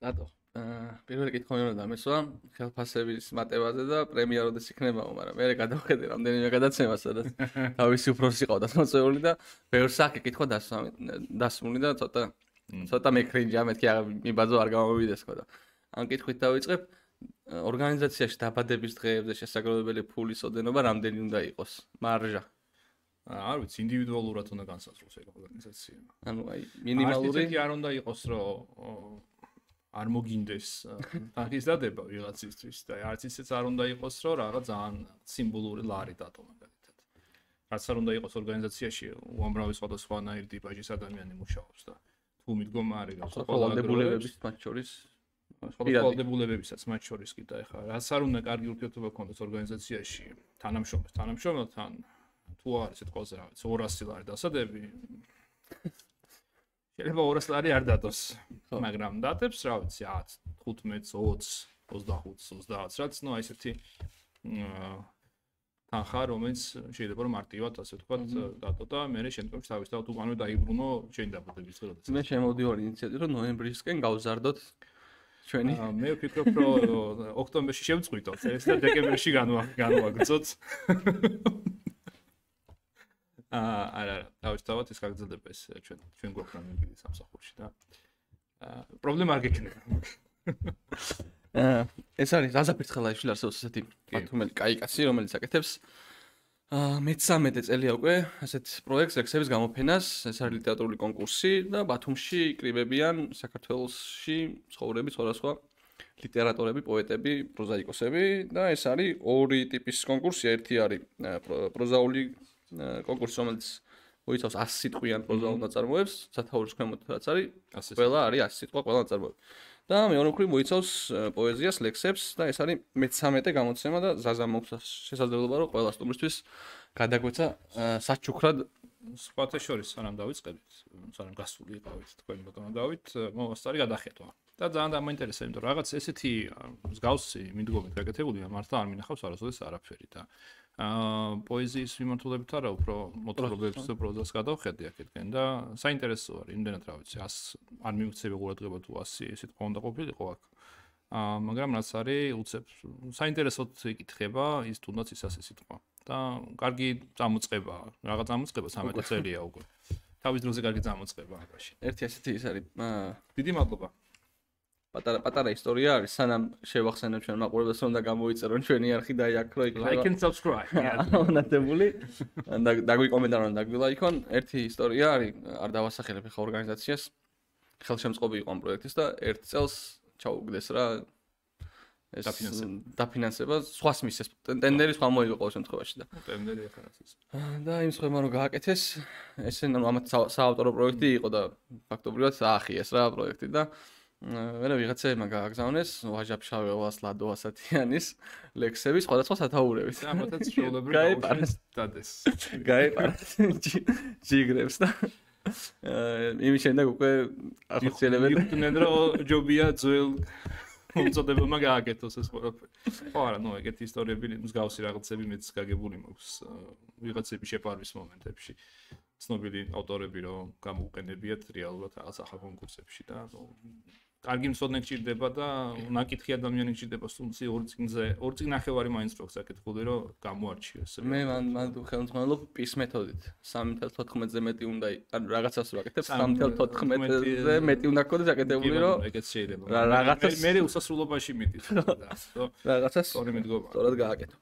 რატო? პირველი კითხვა მე უნდა დამესვა ხელფასების მატებაზე და პრემია როდეს იქნებაო, მაგრამ მე გადავხედე რამდენიმე გადაცემა, სადაც თავისი უფროსი ყავდა მოწეული და ბევრ საკი კითხვა დასმული და ცოტა მეკრინჯა, მეთქი მიბაძო არ გამოვიდეს ხო და ამ კითხვით დავიწყებ. ორგანიზაციაში დაბადების დღეებზე შესაძლებელი ფულის ოდენობა რამდენი უნდა იყოს? მარჟა. არ ვიცი, ინდივიდუალურად უნდა განსაზღვროს ეგ ორგანიზაცია. ანუ აი მინიმალური არ უნდა იყოს, რომ არ მოგინდეს თანხის დადება ვიღაცისთვის და არც ისეც არ უნდა იყოს, რომ რაღაც ძალიან სიმბოლური ლარი დატო მაგალითად. რაც არ უნდა იყოს ორგანიზაციაში უამრავი სხვადასხვანაირი ტიპაჟის ადამიანი მუშაობს და თუ მიდგომარი აქვს ვალდებულებების მათ შორის ვალდებულებებისაც მათ შორის კი და ეხლა რაც არ უნდა კარგი ურთიერთობა გქონდეს ორგანიზაციაში თანამშრომელთან თუ არის ეს ყველაზე რა ვიცი 200 ლარი დასადები შეიძლება 200 ლარი არ დადოს მაგრამ დადებს რა ვიცი 10 15 20 25 30 რაც ნუ აი ესეთი თანხა რომელიც შეიძლება რომ მარტივად ასე ვთქვათ დადო და მე შემდგომში თავის თავად უკანვე დაიბრუნო შენ დაბადების დღე როდესაც მე შემოვდივარ ინიციატივით რომ ნოემბრისკენ გავზარდოთ ჩვენი მე ვფიქრობ რომ ოქტომბერში შევწყვიტოთ ეს და დეკემბერში განვაგრძოთ არა თავის თავად ეს გაგრძელდება ეს ჩვენ გვაქვს რამე სამსახურში და პრობლემა არ გექნება ეს არის ზაზაფერცხელაიშვილი არსებობს ესეთი მართუმელი კაი კაცი რომელიც აკეთებს მე-13 წელია უკვე ასეთ პროექტს ლექსების გამოფენას ეს არის ლიტერატურული კონკურსი და ბათუმში იკრიბებიან საქართველოში ცხოვრები სხვადასხვა ლიტერატორები, პოეტები, პროზაიკოსები და ეს არის ორი ტიპის კონკურსი ერთი არის პროზაული კონკურსი რომელიც მოიცავს 100 სიტყვიან პროზაულ ნაწარმოებს სათაურის ქვემოთ რაც არის ყველა არის 100 სიტყვა ყველა ნაწარმოები და მეორე მხრივ მოიცავს პოეზიას, ლექსებს და ეს არის მე-13 გამოცემა და ზაზა მოგვცა შესაძლებლობა რომ ყველა სტუმრისთვის გადაგვეცა საჩუქრად სხვათა შორის სანამ დავიწყებით, სანამ გასული იყავით თქვენ ბატონო დავით, მოსწარი გადახედვა. და ძალიან დამაინტერესა, იმიტომ რომ რაღაც ესეთი მსგავსი მიდგომით გაკეთებულია, მართლა არ მინახავს არასოდეს არაფერი და პოეზიის მიმართულებით არა, უფრო მოთხრობებს და პროზას გადავხედე აქეთკენ და საინტერესო არის, იმდენად რა ვიცი, 100 არ მივცემ ყურადღება თუ 100 სიტყვა უნდა ყოფილიყო აქ. მაგრამ რაც არის, უცებ საინტერესოდ იკითხება ის თუნდაც ის 100 სიტყვა. და კარგი წამოწყება, რაღაც წამოწყება 13 წელია უკვე. თავის დროზე კარგი წამოწყება აბაში. ერთი ასეთი ის არის. დიდი მადლობა. პატარა ისტორია არის, სანამ შევახსენებ ჩვენ მაყურებელს რომ და გამოიწერონ ჩვენი არხი და აქ რო იქნება. Like and subscribe. მონათებული. და დაგვიკომენტარონ და დაგვილაიქონ. ერთი ისტორია არის, არ დავასახელებ ხა ორგანიზაციას. ხელშემწყობი იყო ამ პროექტის და ერთ წელს ჩაუგდეს რა ეს დაფინანსება სხვას მისცეს ტენდერი სხვა მოიგო ყოველ შემთხვევაში და ტენდერი ახლა ის და იმ სხვამა რომ გააკეთეს ესე ამათ საავტორო პროექტი იყო და ფაქტობრივად აახიეს რა პროექტი და მერე ვიღაცებმა გააგზავნეს ვაჟაფშაველას ლადო ასათიანის ლექსები სხვადასხვა სათაურების და ამათაც შეულებრივ დადეს გაეპარათ ჯიგრებს და იმის შემდეგ უკვე ახორციელებენ რომ ჯობია ძველ მომწოდებელმა გააკეთოს ეს ყველაფერი. ხო არა, ნუ ეგეთი ისტორიები მსგავსი რაღაცები მეც გაგებული მაქვს ვიღაცები შეპარვის მომენტებში. ცნობილი ავტორები რომ გამოუყენებიათ რეალურად რაღაც ახალ კონკურსებში და კარგი მცოდნე გჭირდება და ნაკითხი ადამიანი გჭირდება სტუმრში ორი წიგნახევარი მაინც როქს აკეთებული რომ გამოარჩიოს. მე მან ხელმძღვანელობ პის მეთოდით 3.14-ზე მეტი უნდა ანუ რაღაცას ვაკეთებ 3.14-ზე მეტი უნდა გქონდეს აკეთებული რომ ეგეც შეიძლება. რაღაცას მე უსასრულობაში მიდის და რაღაცას სწორი მიდგომა. სწორად გააკეთო.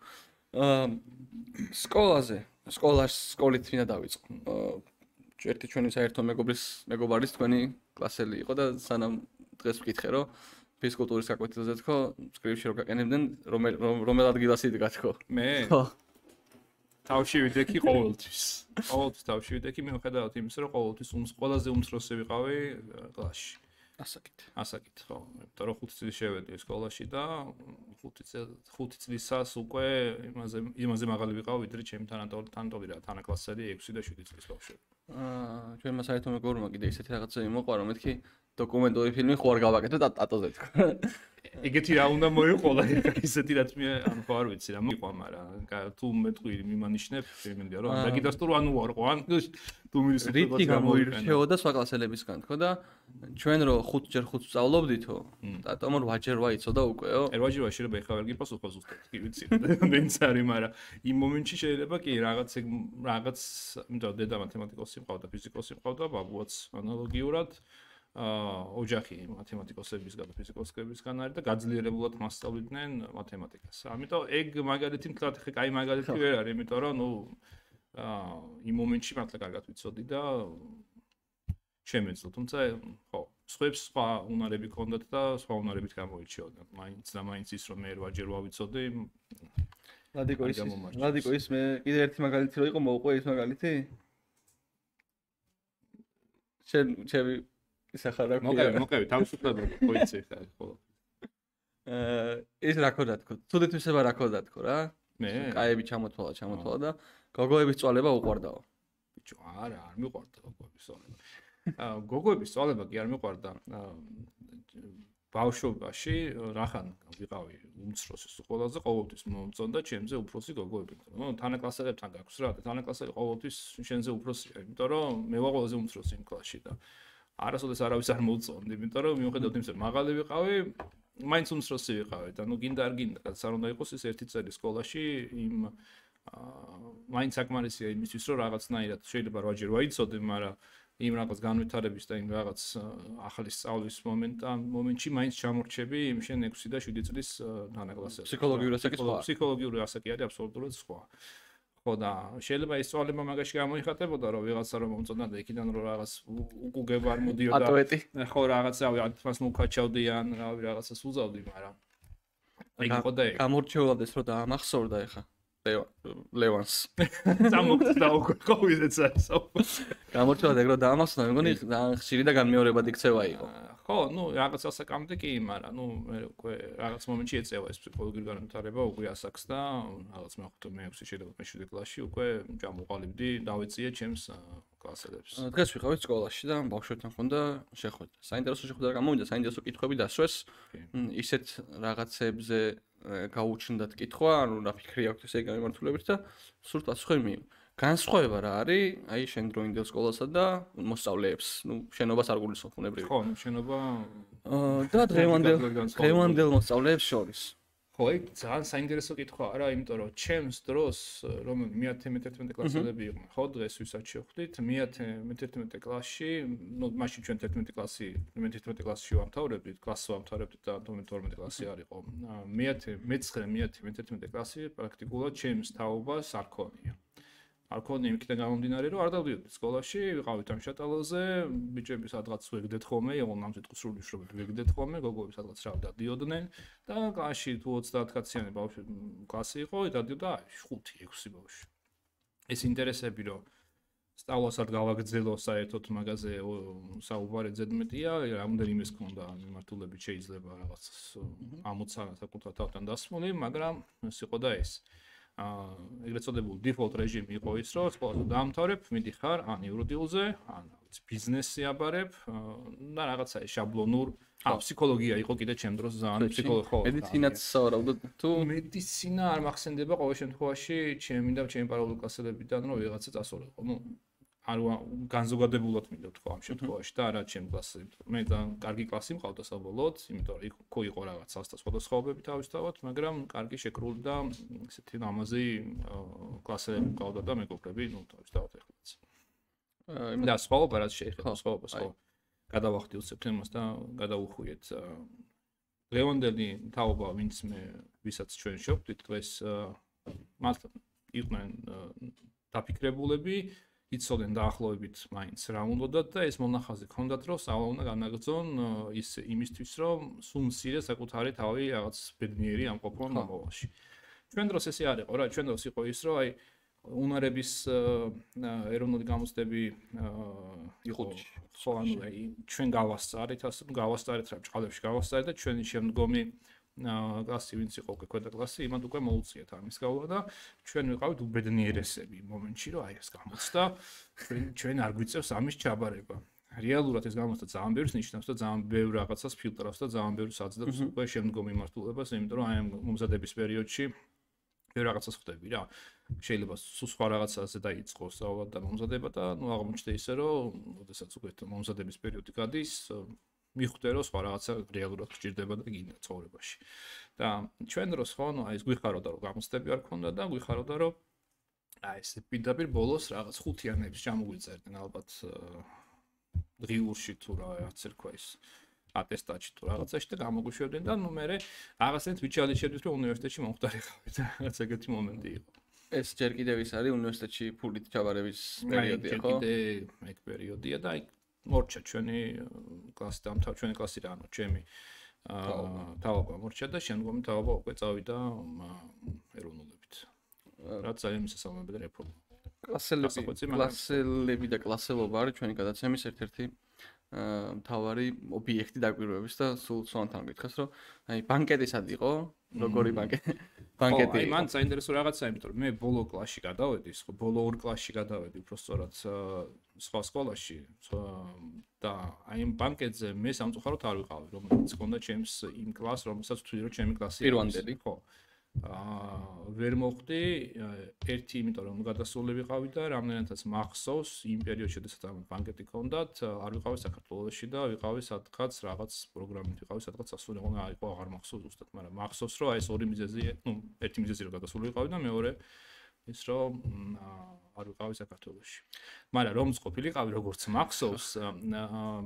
სკოლით მინდა დავიწყო. ერთი ჩვენი საერთო მეგობარის თქვენი კლასელი იყო და სანამ დღეს ვკითხე რომ ფიზკულტურის გაკვეთილზე თქო სკრიპში რომ გაყენებდნენ რომელ ადგილას იდგა თქო მე თავში ვიდექი ყოველთვის თავში ვიდექი მიუხედავად იმისა რომ ყოველთვის ყველაზე უმცროსი ვიყავი კლასში ასაკით ხო იმიტომ რომ 5 წელი შევედი სკოლაში და 5 წლისას უკვე იმაზე მაღალი ვიყავ ვიდრე ჩემი თანატოლი რა თანაკლასელი 6 და 7 წლის ბავშვები ჩვენმა საერთო მეგობრებმა კიდე ისეთი რაღაცები მოყვა რომ მეთქი დოკუმენტური ფილმი ხო არ გავაკეთე და ტატოზე თქო ეგეთი რა უნდა მოიყოლა ისეთი რაც მე ანუ ხო არ ვიცი რა მოიყვა მაგრამ თუ მეტყვი მიმანიშნებ შემინდა რომ რეგისტრ ანუ არ ყო ან თუ მილის რითი გამოირჩეოდა სხვა კლასელებისგან თქო და ჩვენ რო 5x5 სწავლობდითო დატომ რომ 8x8 იცოდა უკეო 8x8 შეიძლება ეხლა ვერ გიპასუხო ზუსტად კი ვიცი დენც არის მაგრამ იმ მომენტში შეიძლება კი რაღაც იმიტომ დედა მათემატიკოსი მყავდა ფიზიკოსი მყავდა ბაბუაც ანალოგიურად ოჯახი მათემატიკოსებისგან და ფიზიკოსებისგან არის და გაძლიერებულად მასწავლიდნენ მათემატიკას. ამიტომ ეგ მაგალითი მთლად ხე კაი მაგალითი ვერ არის, იმიტომ რომ ნუ იმ მომენტში მართლა კარგად ვიცოდი და შემეძლო, თუმცა ხო, სხვებს სხვა უნარები ჰქონდათ და სხვა უნარებით გამოირჩეოდნენ. მაინც ის რომ მე 8-ჯერ ვავიცოდი. ლადიკო ის მე კიდე ერთი მაგალითი რო იყო მოუყვე ის მაგალითი? ჩემი ისახარა კი. მოკევი, თავისუფლად მოიცი ხა ხოლო. ის რა ქონდა თქო? თუდეთვისება რა ქონდა თქო რა? მე კაები ჩამოთვალა და გოგოების წვალება უყვარდაო. ბიჭო, არა, არ მიყვარდა გოგოების წვალება. გოგოების წვალება კი არ მიყვარდა. ბავშვობაში რახან ვიყავი უმცროსი ყველაზე ყოველთვის მომწონდა ჩემზე უფროსი გოგოები. ნუ თანაკლასელებთან გაქვს რა, თანაკლასელი ყოველთვის შენზე უფროსია, იმიტომ რომ მე ვარ ყველაზე უმცროსი იმ კლასში და არასოდეს არავის არ მოუწონდი, იმიტომ რომ მიუხედავად იმისა, რომ მაღალი ვიყავი, მაინც უმცროსი ვიყავი და ნუ გინდა არ გინდა, რაც არ უნდა იყოს ის ერთი წელი სკოლაში იმ მაინც საკმარისია იმისთვის, რომ რაღაცნაირად შეიძლება 8-ჯერ ვაიცოდე, მაგრამ იმ რაღაც განვითარების და იმ რაღაც ახალი სწავლის მომენტში მაინც ჩამორჩები იმ შენ 6 და 7 წლის თანაკლასელს. ფსიქოლოგიური ასაკი არის აბსოლუტურად სხვა. ხო და შეიძლება ის წვალება მაგაში გამოიხატებოდა რომ ვიღაცა რომ მომწონდა და იქიდან რომ რაღაც უკუგება არ მოდიოდა ხო რაღაცავი ათმას მოვქაჩავდიან რავი რაღაცას უზავდი მაგრამ ეგ იყო და ეგ გამორჩეულდეს რომ დაამახსოვრდა ეხა ლევანს წამოხდა უკვე ყოვიდეც არის გამორჩეულად ეგ რომ დაამახსოვრდა მე მგონი ხშირი და განმეორებადი ქცევა იყო ხო ნუ რაღაც ასაკამდე კი მაგრამ ნუ მე უკვე რაღაც მომენტში ეწევა ეს ფსიქოლოგიური განვითარება უკვე ასაკს და რაღაც მე 6 შეიძლება მე 7 კლასში უკვე ჩამოყალიბდი დავეწიე ჩემს კლასელებს დღეს ვიყავით სკოლაში და ბავშვებთან ხონდა შეხვედრა საინტერესო შეხვედრა გამოვიდა საინტერესო კითხვები დასვეს ისეთ რაღაცებზე გაუჩნდათ კითხვა ანუ რა ფიქრი აქვს ესე გამართულებით და სულ პასუხი მიიღო განსხვავება რა არის აი შენ დროინდელ სკოლასა და მოსწავლეებს ნუ შენობას არ გულისხმობ უნებრივი ხო შენობა და დღევანდელ მოსწავლეებს შორის ხო ეგ ძალიან საინტერესო კითხვა არა იმიტომ რომ ჩემს დროს რომ მე-11 კლასელები იყვნენ ხო დღეს ვისაც შევხვდით მე-11 კლასში ნუ მაშინ ჩვენ 11 კლასი მე-11 კლასში ვამთავრებდით კლასს ვამთავრებდით და 12 კლასი არ იყო მე-11 კლასი პრაქტიკულად ჩემს თაობას არ ქონია არ ქონია იქიდან გამომდინარე რომ არ დავდიოდი სკოლაში ვიყავით ამ შატალოზე ბიჭები სადღაც ვეგდეთ ხოლმე იყო ნამდვილად სრული შრომები ვეგდეთ ხოლმე გოგოები სადღაც რა დადიოდნენ და კლასში თუ 30 კაციანი ბავშვი კლასი იყო დადიოდა 5-6 ბავშვი ეს ინტერესები რომ სწავლას არ გავაგრძელო საერთოდ მაგაზე საუბარი ზედმეტია რამდენიმეს ქონდა მიმართულებით შეიძლება რაღაც ამოცანა საკუთარ თავთან დასმული მაგრამ ეს იყო და ეს ეგრეთ წოდებული default რეჟიმი იყო ის, რომ სკოლას დაამთავრებ, მიდიხარ ან იურიდიულზე, ან ბიზნესზე აბარებ და რაღაცა შაბლონურ ფსიქოლოგია იყო კიდე ჩემ დროს ძალიან ფსიქოლოგია. მედიცინაც სავარაუდოდ თუ მედიცინა არ მახსენდება ყოველ შემთხვევაში ჩემი და ჩემი პარალელური კლასელებიდან რომ ვიღაცა წასულიყო. ნუ არ განზოგადებულად მინდა თქვა ამ შემთხვევაში და არა ჩემ კლასზე. მე ძალიან კარგი კლასი მყავდა საბოლოოდ, იმიტომ რომ იქ იყო რაღაც სხვადასხვაობები თავისთავად, მაგრამ კარგი შეკრული და ესეთი ამაზე კლასელები მყავდა და მეგობრები, ნუ თავისთავად ეხლაც. და სხვაობა რაც შეეხება სხვაობას ხო. გადავახდი სექტემბერს და გადავუხვიეთ ლევანდელი თაობა ვინც მე ვისაც ჩვენ შევხვდით დღეს მათ იყვნენ დაფიქრებულები იცოდნენ დაახლოებით მაინც რა უნდათ და ეს მონახაზი ჰქონდათ რომ სწავლა უნდა განაგრძონ ის იმისთვის რომ სულ მცირე საკუთარი თავი რაღაც ბედნიერი ამყოფონ მომავალში. ჩვენ დროს ესე არ იყო რა, ჩვენ დროს იყო ის რომ აი უნარების ეროვნული გამოცდები იყო ხო ანუ აი ჩვენ გავასწარეთ ასე გავასწარეთ რა ჭყალებში გავასწარეთ და ჩვენი შემდგომი კლასი ვინც იყო უკვე ქვედა კლასი იმათ უკვე მოუწიეთ ამის გავლა და ჩვენ ვიყავით უბედნიერესები იმ მომენტში რომ აი ეს გამოცდა ჩვენ არ გვიწევს ამის ჩაბარება რეალურად ეს გამოსთა ძალიან ბევრს ნიშნავს და ძალიან ბევრ რაღაცას ფილტრავს და ძალიან ბევრს აძლევს უკვე შემდგომ მიმართულებას, იმიტომ რომ აი ამ მომზადების პერიოდში ბევრ რაღაცას ხვდები რა. შეიძლება სულ სხვა რაღაცაზე დაიწყოს სწავლა და მომზადება და ნუ აღმოჩნდა ისე რომ ოდესაც უკვე მომზადების პერიოდი გადის, მიხვდე რომ სხვა რაღაცა რეალურად გჭირდება და გინდა ცხოვრებაში. და ჩვენ დროს ხო, ნუ აი ეს გვიხაროდა რომ გამოცდები არ ქონდა და გვიხაროდა რომ აი ეს პირდაპირ ბოლოს რაღაც ხუთიანებს ჩამოგვიწერდნენ ალბათ დღიურში თუ რაღაც ერქვა ის ატესტატში თუ რაღაცაში და გამოგვიშვებდნენ და ნუ მე რაღაცნაირად ვიჩალიშებდით რომ უნივერსიტეტში მომხდარიყავით რაღაც ეგეთი მომენტი იყო. ეს ჯერ კიდევ ის არის უნივერსიტეტში ფულით ჩაბარების პერიოდია ხო? კიდე ეგ პერიოდია და აი მორჩა ჩვენი კლასი დამთავრდა ჩვენი კლასი რა ანუ ჩემი თავობა მორჩა და შემდგომი თავობა უკვე წავიდა ეროვნულებით. რაც ძალიან მისასალმებელი რეფორმა. კლასელები და კლასელობა არის ჩვენი გადაცემის ერთ-ერთი მთავარი ობიექტი დაკვირვების და სულ სვანთან გითხეს რომ აი ბანკეტისად იყო როგორი ბანკეტი აი მან საინტერესო რაღაცა იმიტომ რომ მე ბოლო კლასში გადავედი ბოლო ორ კლასში გადავედი უფრო სწორად სხვა სკოლაში და აი ამ ბანკეტზე მე სამწუხაროდ არ ვიყავი რომელიც ჰქონდა ჩემს იმ კლასს რომელსაც ვთვლი რომ ჩემი კლასი პირვანდელი ხო ვერ მოხდი ერთი იმიტომ რომ გადასული ვიყავი და რამდენადაც მახსოვს იმ პერიოდში შესაძაც ამ ბანკეტი ქონდათ არ ვიყავი საქართველოში და ვიყავი სადღაც რაღაც პროგრამით ვიყავი სადღაც სასულე ყონა არ იყო აღარ მახსოვს ზუსტად მაგრამ მახსოვს რომ აი ეს ორი მიზეზი ნუ ერთი მიზეზი რომ გადასული ვიყავი და მეორე ის რომ არ ვიყავი საქართველოში მაგრამ რომ ყოფილიყავი როგორც მახსოვს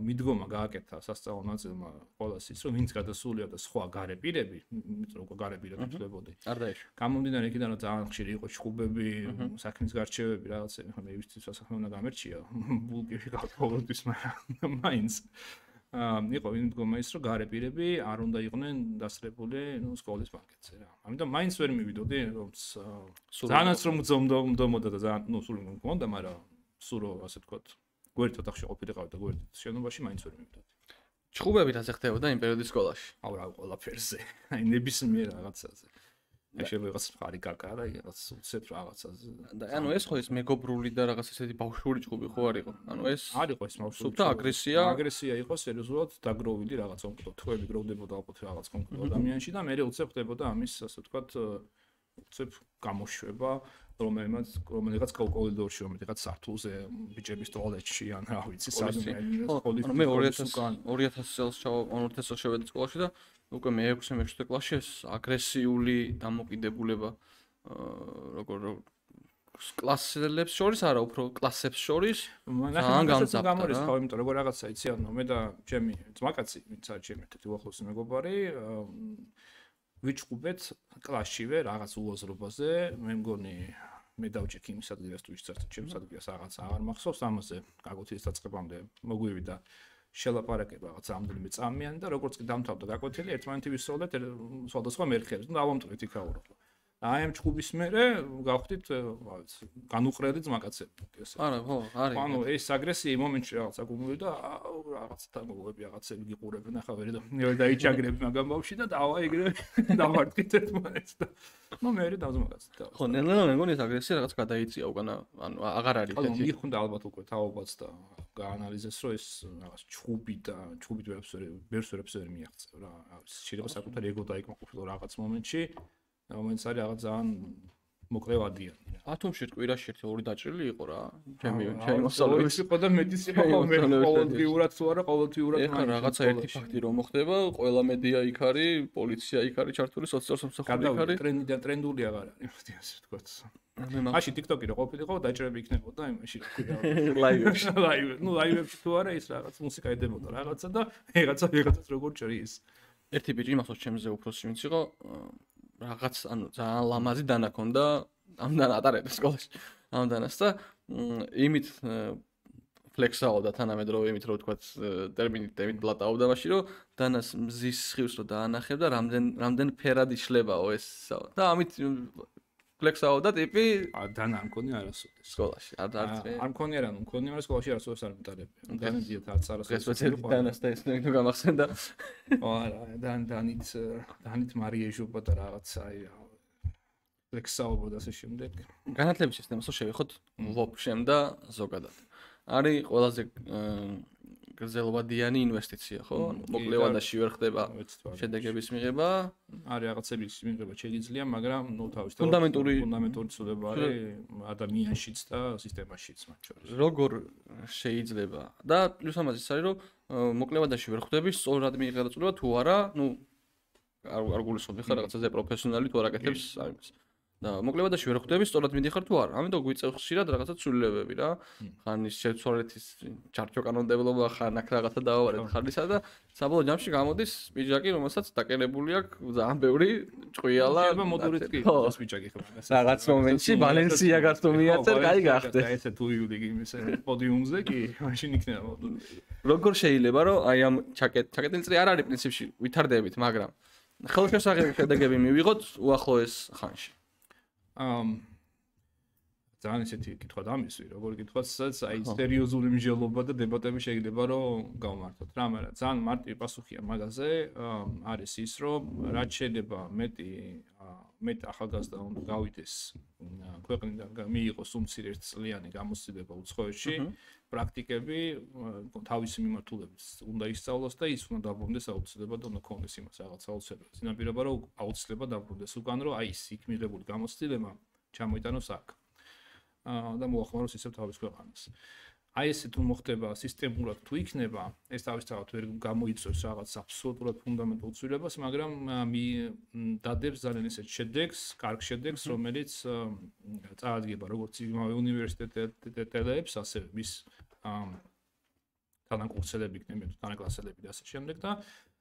მიდგომა გააკეთა სასწავლო ნაწილმა ყოველას ის რომ ვინც გადასულია და სხვა გარე პირები იმიტომ რომ გარე პირები ხდებოდი არ დაეშვა გამომდინარე იქიდან რომ ძალიან ხშირი იყო ჩხუბები საქმის გარჩევები რაღაცები ხომ ევისთვის სასახმე უნდა გამერჩია ბულკი ვიყავ ყოველთვის მაგრამ მაინც იყო მიდგომა ის რომ გარე პირები არ უნდა იყვნენ დასწრებული ნუ სკოლის ბანკეტზე რა ამიტომ მაინც ვერ მივიდოდი რომ ძალიანაც რომ მძომოდა და ძალიან ნუ სულ მქონდა მაგრამ სულ რომ ასე ვთქვათ გვერდით ოთახში ყოფილიყავი და გვერდით შენობაში მაინც ვერ მივიდოდი ჩხუბებით ასე ხდებოდა იმ პერიოდის სკოლაში აუ რა ყველაფერზე აი ნებისმიერ რაღაცაზე აი შეიძლება რაღაც ხარი კაკა და რაღაც უცებ რაღაცაზე და ანუ ეს ხო ეს მეგობრული და რაღაც ესეთი ბავშვური ჩხუბი ხო არ იყო ანუ ეს არ იყო ეს ბავშვური სულთა აგრესია იყო სერიოზულად დაგროვილი რაღაც კონკრეტ თვეები გროვდებოდა ალბათ რაღაც კონკრეტ ადამიანში და მე უცებ ხდებოდა ამის ასე ვთქვათ უცებ გამოშვება რომელიღაც კორიდორში რომელიღაც სართულზე ბიჭების ტუალეტში ან რა ვიცი სადმე სკოლის მე 2000 წელს 2000 წელს შევედი სკოლაში და უკვე მე-6 კლასში ეს აგრესიული დამოკიდებულება როგორ კლასელებს შორის არა უფრო კლასებს შორის ძალიან გამძაფრდა გამორიცხავ იმიტომ რომ რაღაცა იცი ანუ მე და ჩემი ძმაკაცი ვინც არის ჩემი ერთ-ერთი უახლოესი მეგობარი ვიჭუბეთ კლასშივე რაღაც უაზრობაზე მე მგონი მე დავჭიქ იმის ადგილას თუ ისწრაფ ჩემს ადგილას რაღაც აღარ მახსოვს ამაზე გაკვეთილის დაწყებამდე მოგვივიდა შელაპარაკება რაღაც ამდენიმე წამიანი და როგორც კი დამთავრდა გაკვეთილი ერთმანეთი ვისწავლეთ სხვადასხვა მერხეებს და დავამტვრეთ იქაურო აი ამ ჩხუბის მერე გავხდით განუყრელი ძმაკაცები ესე არა ხო არის ანუ ეს აგრესია მომენტში რაღაც აკუმულირდა და რაღაც თამოგები რაღაცები გიყურებენ ახლა ვერ დაიჭაგრებ მაგამ ბავში და დავა ეგრე დავარტყით ერთმანეთს და ნუ მე დავზმაკაცეთ ხო ნელა მე მგონი ეს აგრესია რაღაც გადაიწია უკანა ანუ აღარ არის ესეთი ანუ მიხუნდა ალბათ უკვე თაობაც და გაანალიზეს რომ ეს რაღაც ჩხუბი და ჩხუბით ვერაფერს ვერ მიაღწევ რა შეიძლება საკუთარი ეგო დაიკმაყოფილო რაღაც მომენტში რომელიც არის რაღაც ძალიან მოკლევადიანი რა. ათომში კვირაში ერთი დაჭრილი იყო რა. ჩემი მოსწავლეების იყო და მეტის იყო მე ყოველდღიურად თუ არა ყოველდღიურად ეხლა რაღაცა ერთი ფაქტი რომ მოხდება, ყველა მედია იქ არის, პოლიცია იქ არის ჩართული, სოციალურ სამსახური იქ არის. ტრენდული აღარ არის, ასე ვთქვათ. მაშინ TikTok-ი რო ყოფილიყო, დაჭრები იქნებოდა იმაში რა ქვია. ლაივებში. ნუ ლაივებში თუ არა ის რაღაც მუსიკა ედებოდა რაღაცა და ვიღაცას როგორ ჭრის. ერთი ბიჭი მახსოვს ჩემზე უფროსი ვინც იყო რაღაც ანუ ძალიან ლამაზი დანა ქონდა ამდან ატარებდა სკოლაში ამდანას და იმით ფლექსაობდა თანამედროვე იმით რომ ვთქვათ ტერმინით ბლატაობდა მაშინ რომ დანას მზის სხივს რო დაანახებდა რამდენ ფერად იშლებაო ეს და ამით ფლექსაობდა ტიპი დანა არ მქონია არასოდეს სკოლაში არ მქონია რა მქონია მაგრამ სკოლაში არასოდეს არ მიტარებია დანადიათ არც არასოდეს დანას და ეს ნუ გამახსენდა არა დანით მარიეჟობა და რაღაცა აი ფლექსაობა და ასე შემდეგ განათლების სისტემასო შევიხოთ ვობშემ და ზოგადად არის ყველაზე გრძელვადიანი ინვესტიცია, ხო? ანუ მოკლევადაში ვერ ხდება შედეგების მიღება. არის რაღაცების მიღება შეიძლება, მაგრამ თავისთავად ფუნდამენტური ცვლილება არის ადამიანშიც და სისტემაშიც მათ შორის. როგორ შეიძლება და პლუს ამას ის არის, რომ მოკლევადაში ვერ ხვდები სწორად მიიღება წვლილება თუ არა, არ გულისხმობ ხარ რაღაცაზე პროფესიონალი თუ არ აკეთებს ამას. და მოკლევადაში ვერ ხვდები სწორად მიდიხარ თუ არა. ამიტომ გვიწევს ხშირად რაღაცა ცვლილებები რა. ხან ის შეცვალეთის ჩარჩო კანონმდებლობა, ხან აქ რაღაცა დავავარეთ ხალისა და საბოლოო ჯამში გამოდის პიჯაკი, რომელსაც დაკერებული აქვს ძალიან ბევრი ჭყვიალა. შეიძლება მოდურიც კი იყოს პიჯაკი ხო. რაღაც მომენტში ბალენსია გართო მიაწერ, კაი გახდე. და ესე თუ იუდი იმის პოდიუმზე კი მაშინ იქნება მოდური. როგორ შეიძლება რომ აი ამ ჩაკეტილი წრი არ არის პრინციპში ვითარდებით, მაგრამ ხელშესაღები შედეგები მივიღოთ უახლოეს ხანში. ძალიან ისეთი კითხვა დამისვი, როგორ კითხვაც, სადაც აი სერიოზული მსჯელობა და დებატები შეიძლება რომ გავმართოთ რა, მაგრამ ძალიან მარტივი პასუხია მაგაზე, არის ის, რომ რაც შეიძლება მეტ ახალგაზრდა უნდა გავიდეს ქვეყნიდან მიიღოს უმცირე ერთწლიანი გამოცდილება უცხოეთში, პრაქტიკები თავისი მიმართულებით უნდა ისწავლოს და ის უნდა დაბრუნდეს აუცილებლად უნდა ქონდეს იმას რაღაც აუცილებლად. წინაპირობა რომ აუცილებლად დაბრუნდეს უკან რომ აი ის იქ მიღებული გამოცდილება ჩამოიტანოს აქ. და მოახმაროს ისევ თავის ქვეყანას. აი ესე თუ მოხდება სისტემურად თუ იქნება, ეს თავისთავად ვერ გამოიწვევს რაღაც აბსოლუტურად ფუნდამენტურ ცვლილებას, მაგრამ დადებს ძალიან ისეთ შედეგს, კარგ შედეგს, რომელიც წარადგება როგორც იმავე უნივერსიტეტელებს, ასე მის თანაკურსელები იქნება, თანაკლასელები და ასე შემდეგ და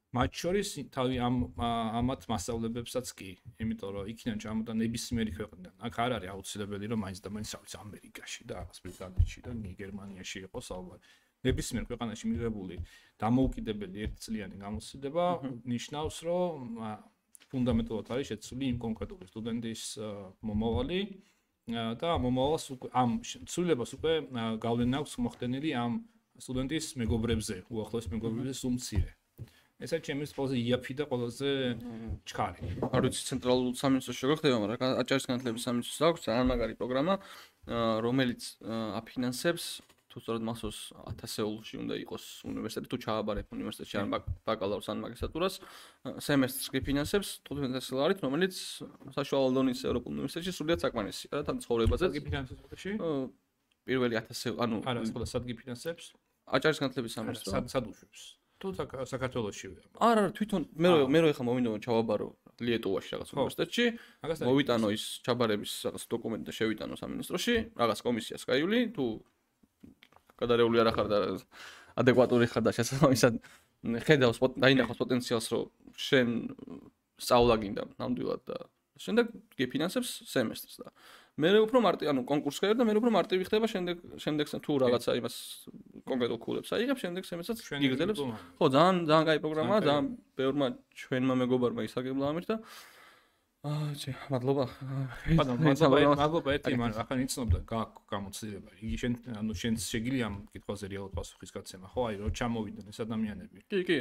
მათ შორის თავი ამათ მასწავლებებსაც კი, იმიტომ რომ იქიდან ჩამოდა ნებისმიერი ქვეყნიდან. აქ არ არის აუცილებელი რომ მაინც და მაინც რაღაც ამერიკაში და რაღაც ბრიტანეთში და გერმანიაში იყოს ალბათ. ნებისმიერ ქვეყანაში მიღებული დამოუკიდებელი ერთწლიანი გამოცდილება ნიშნავს, რომ ფუნდამენტურად არის შეცვლილი იმ კონკრეტული სტუდენტის მომავალი და მომავალს ამ ცვლილებას უკვე გავლენა აქვს მოხდენილი ამ სტუდენტის მეგობრებზე, უახლოეს მეგობრებზე სულ მცირე. ეს არის ჩემთვის ყველაზე იაფი და ყველაზე ჩქარი. არ ვიცი ცენტრალურ სამინისტროში როგორ ხდება, მაგრამ აჭარის განათლების სამინისტროს აქვს ძალიან მაგარი პროგრამა, რომელიც აფინანსებს თუ სწორედ მასოს 1000-ეულში უნდა იყოს უნივერსიტეტი თუ ჩააბარებ უნივერსიტეტში ან ბაკალავრს ან მაგისტრატურას, სემესტრს კი ფინანსებს 1500 ლარით, რომელიც საშუალო დონის ევროპულ უნივერსიტეტში სრულიად საკმარისია რა თან ცხოვრებაზე. სად გიფინანსებს ხუთში? პირველი 1000, ანუ არა, სხვა სად გიფინანსებს? აჭარის განათლების სამინისტრო. სად უშვებს? თუ საქართველოშივე. არა, თვითონ მე ხა მოვინდო ჩავაბარო ლიეტუვაში რაღაც უნივერსიტეტში, მოვიტანო ის ჩაბარების რაღაც დოკუმენტი და შევიტანო სამინისტროში, რაღაც კომისიას გაივლი, თუ გადარეული არ ახარ და ადეკვატური ხარ და შესაბამისად ხედავს დაინახავს პოტენციალს, რომ შენ სწავლა გინდა ნამდვილად და შემდეგ გიფინანსებს სემესტრს და მე უფრო მარტივი, ანუ კონკურსს გაიგებ და მე უფრო მარტივი ხდება შემდეგ თუ რაღაცა იმას კონკრეტულ ქულებს აიღებ, შემდეგ სემესტრს იგრძელებს. ხო, ძალიან კაი პროგრამაა, ძალიან ბევრმა ჩვენმა მეგობარმა ისაგებლა ამით და მადლობა. მადლობა ერთი მან ახლა იცნობდა გააქვს გამოცდილება. იგი შენ შეგიძლია ამ კითხვაზე რეალურად პასუხის გაცემა, ხო, აი რომ ჩამოვიდნენ ეს ადამიანები. კი.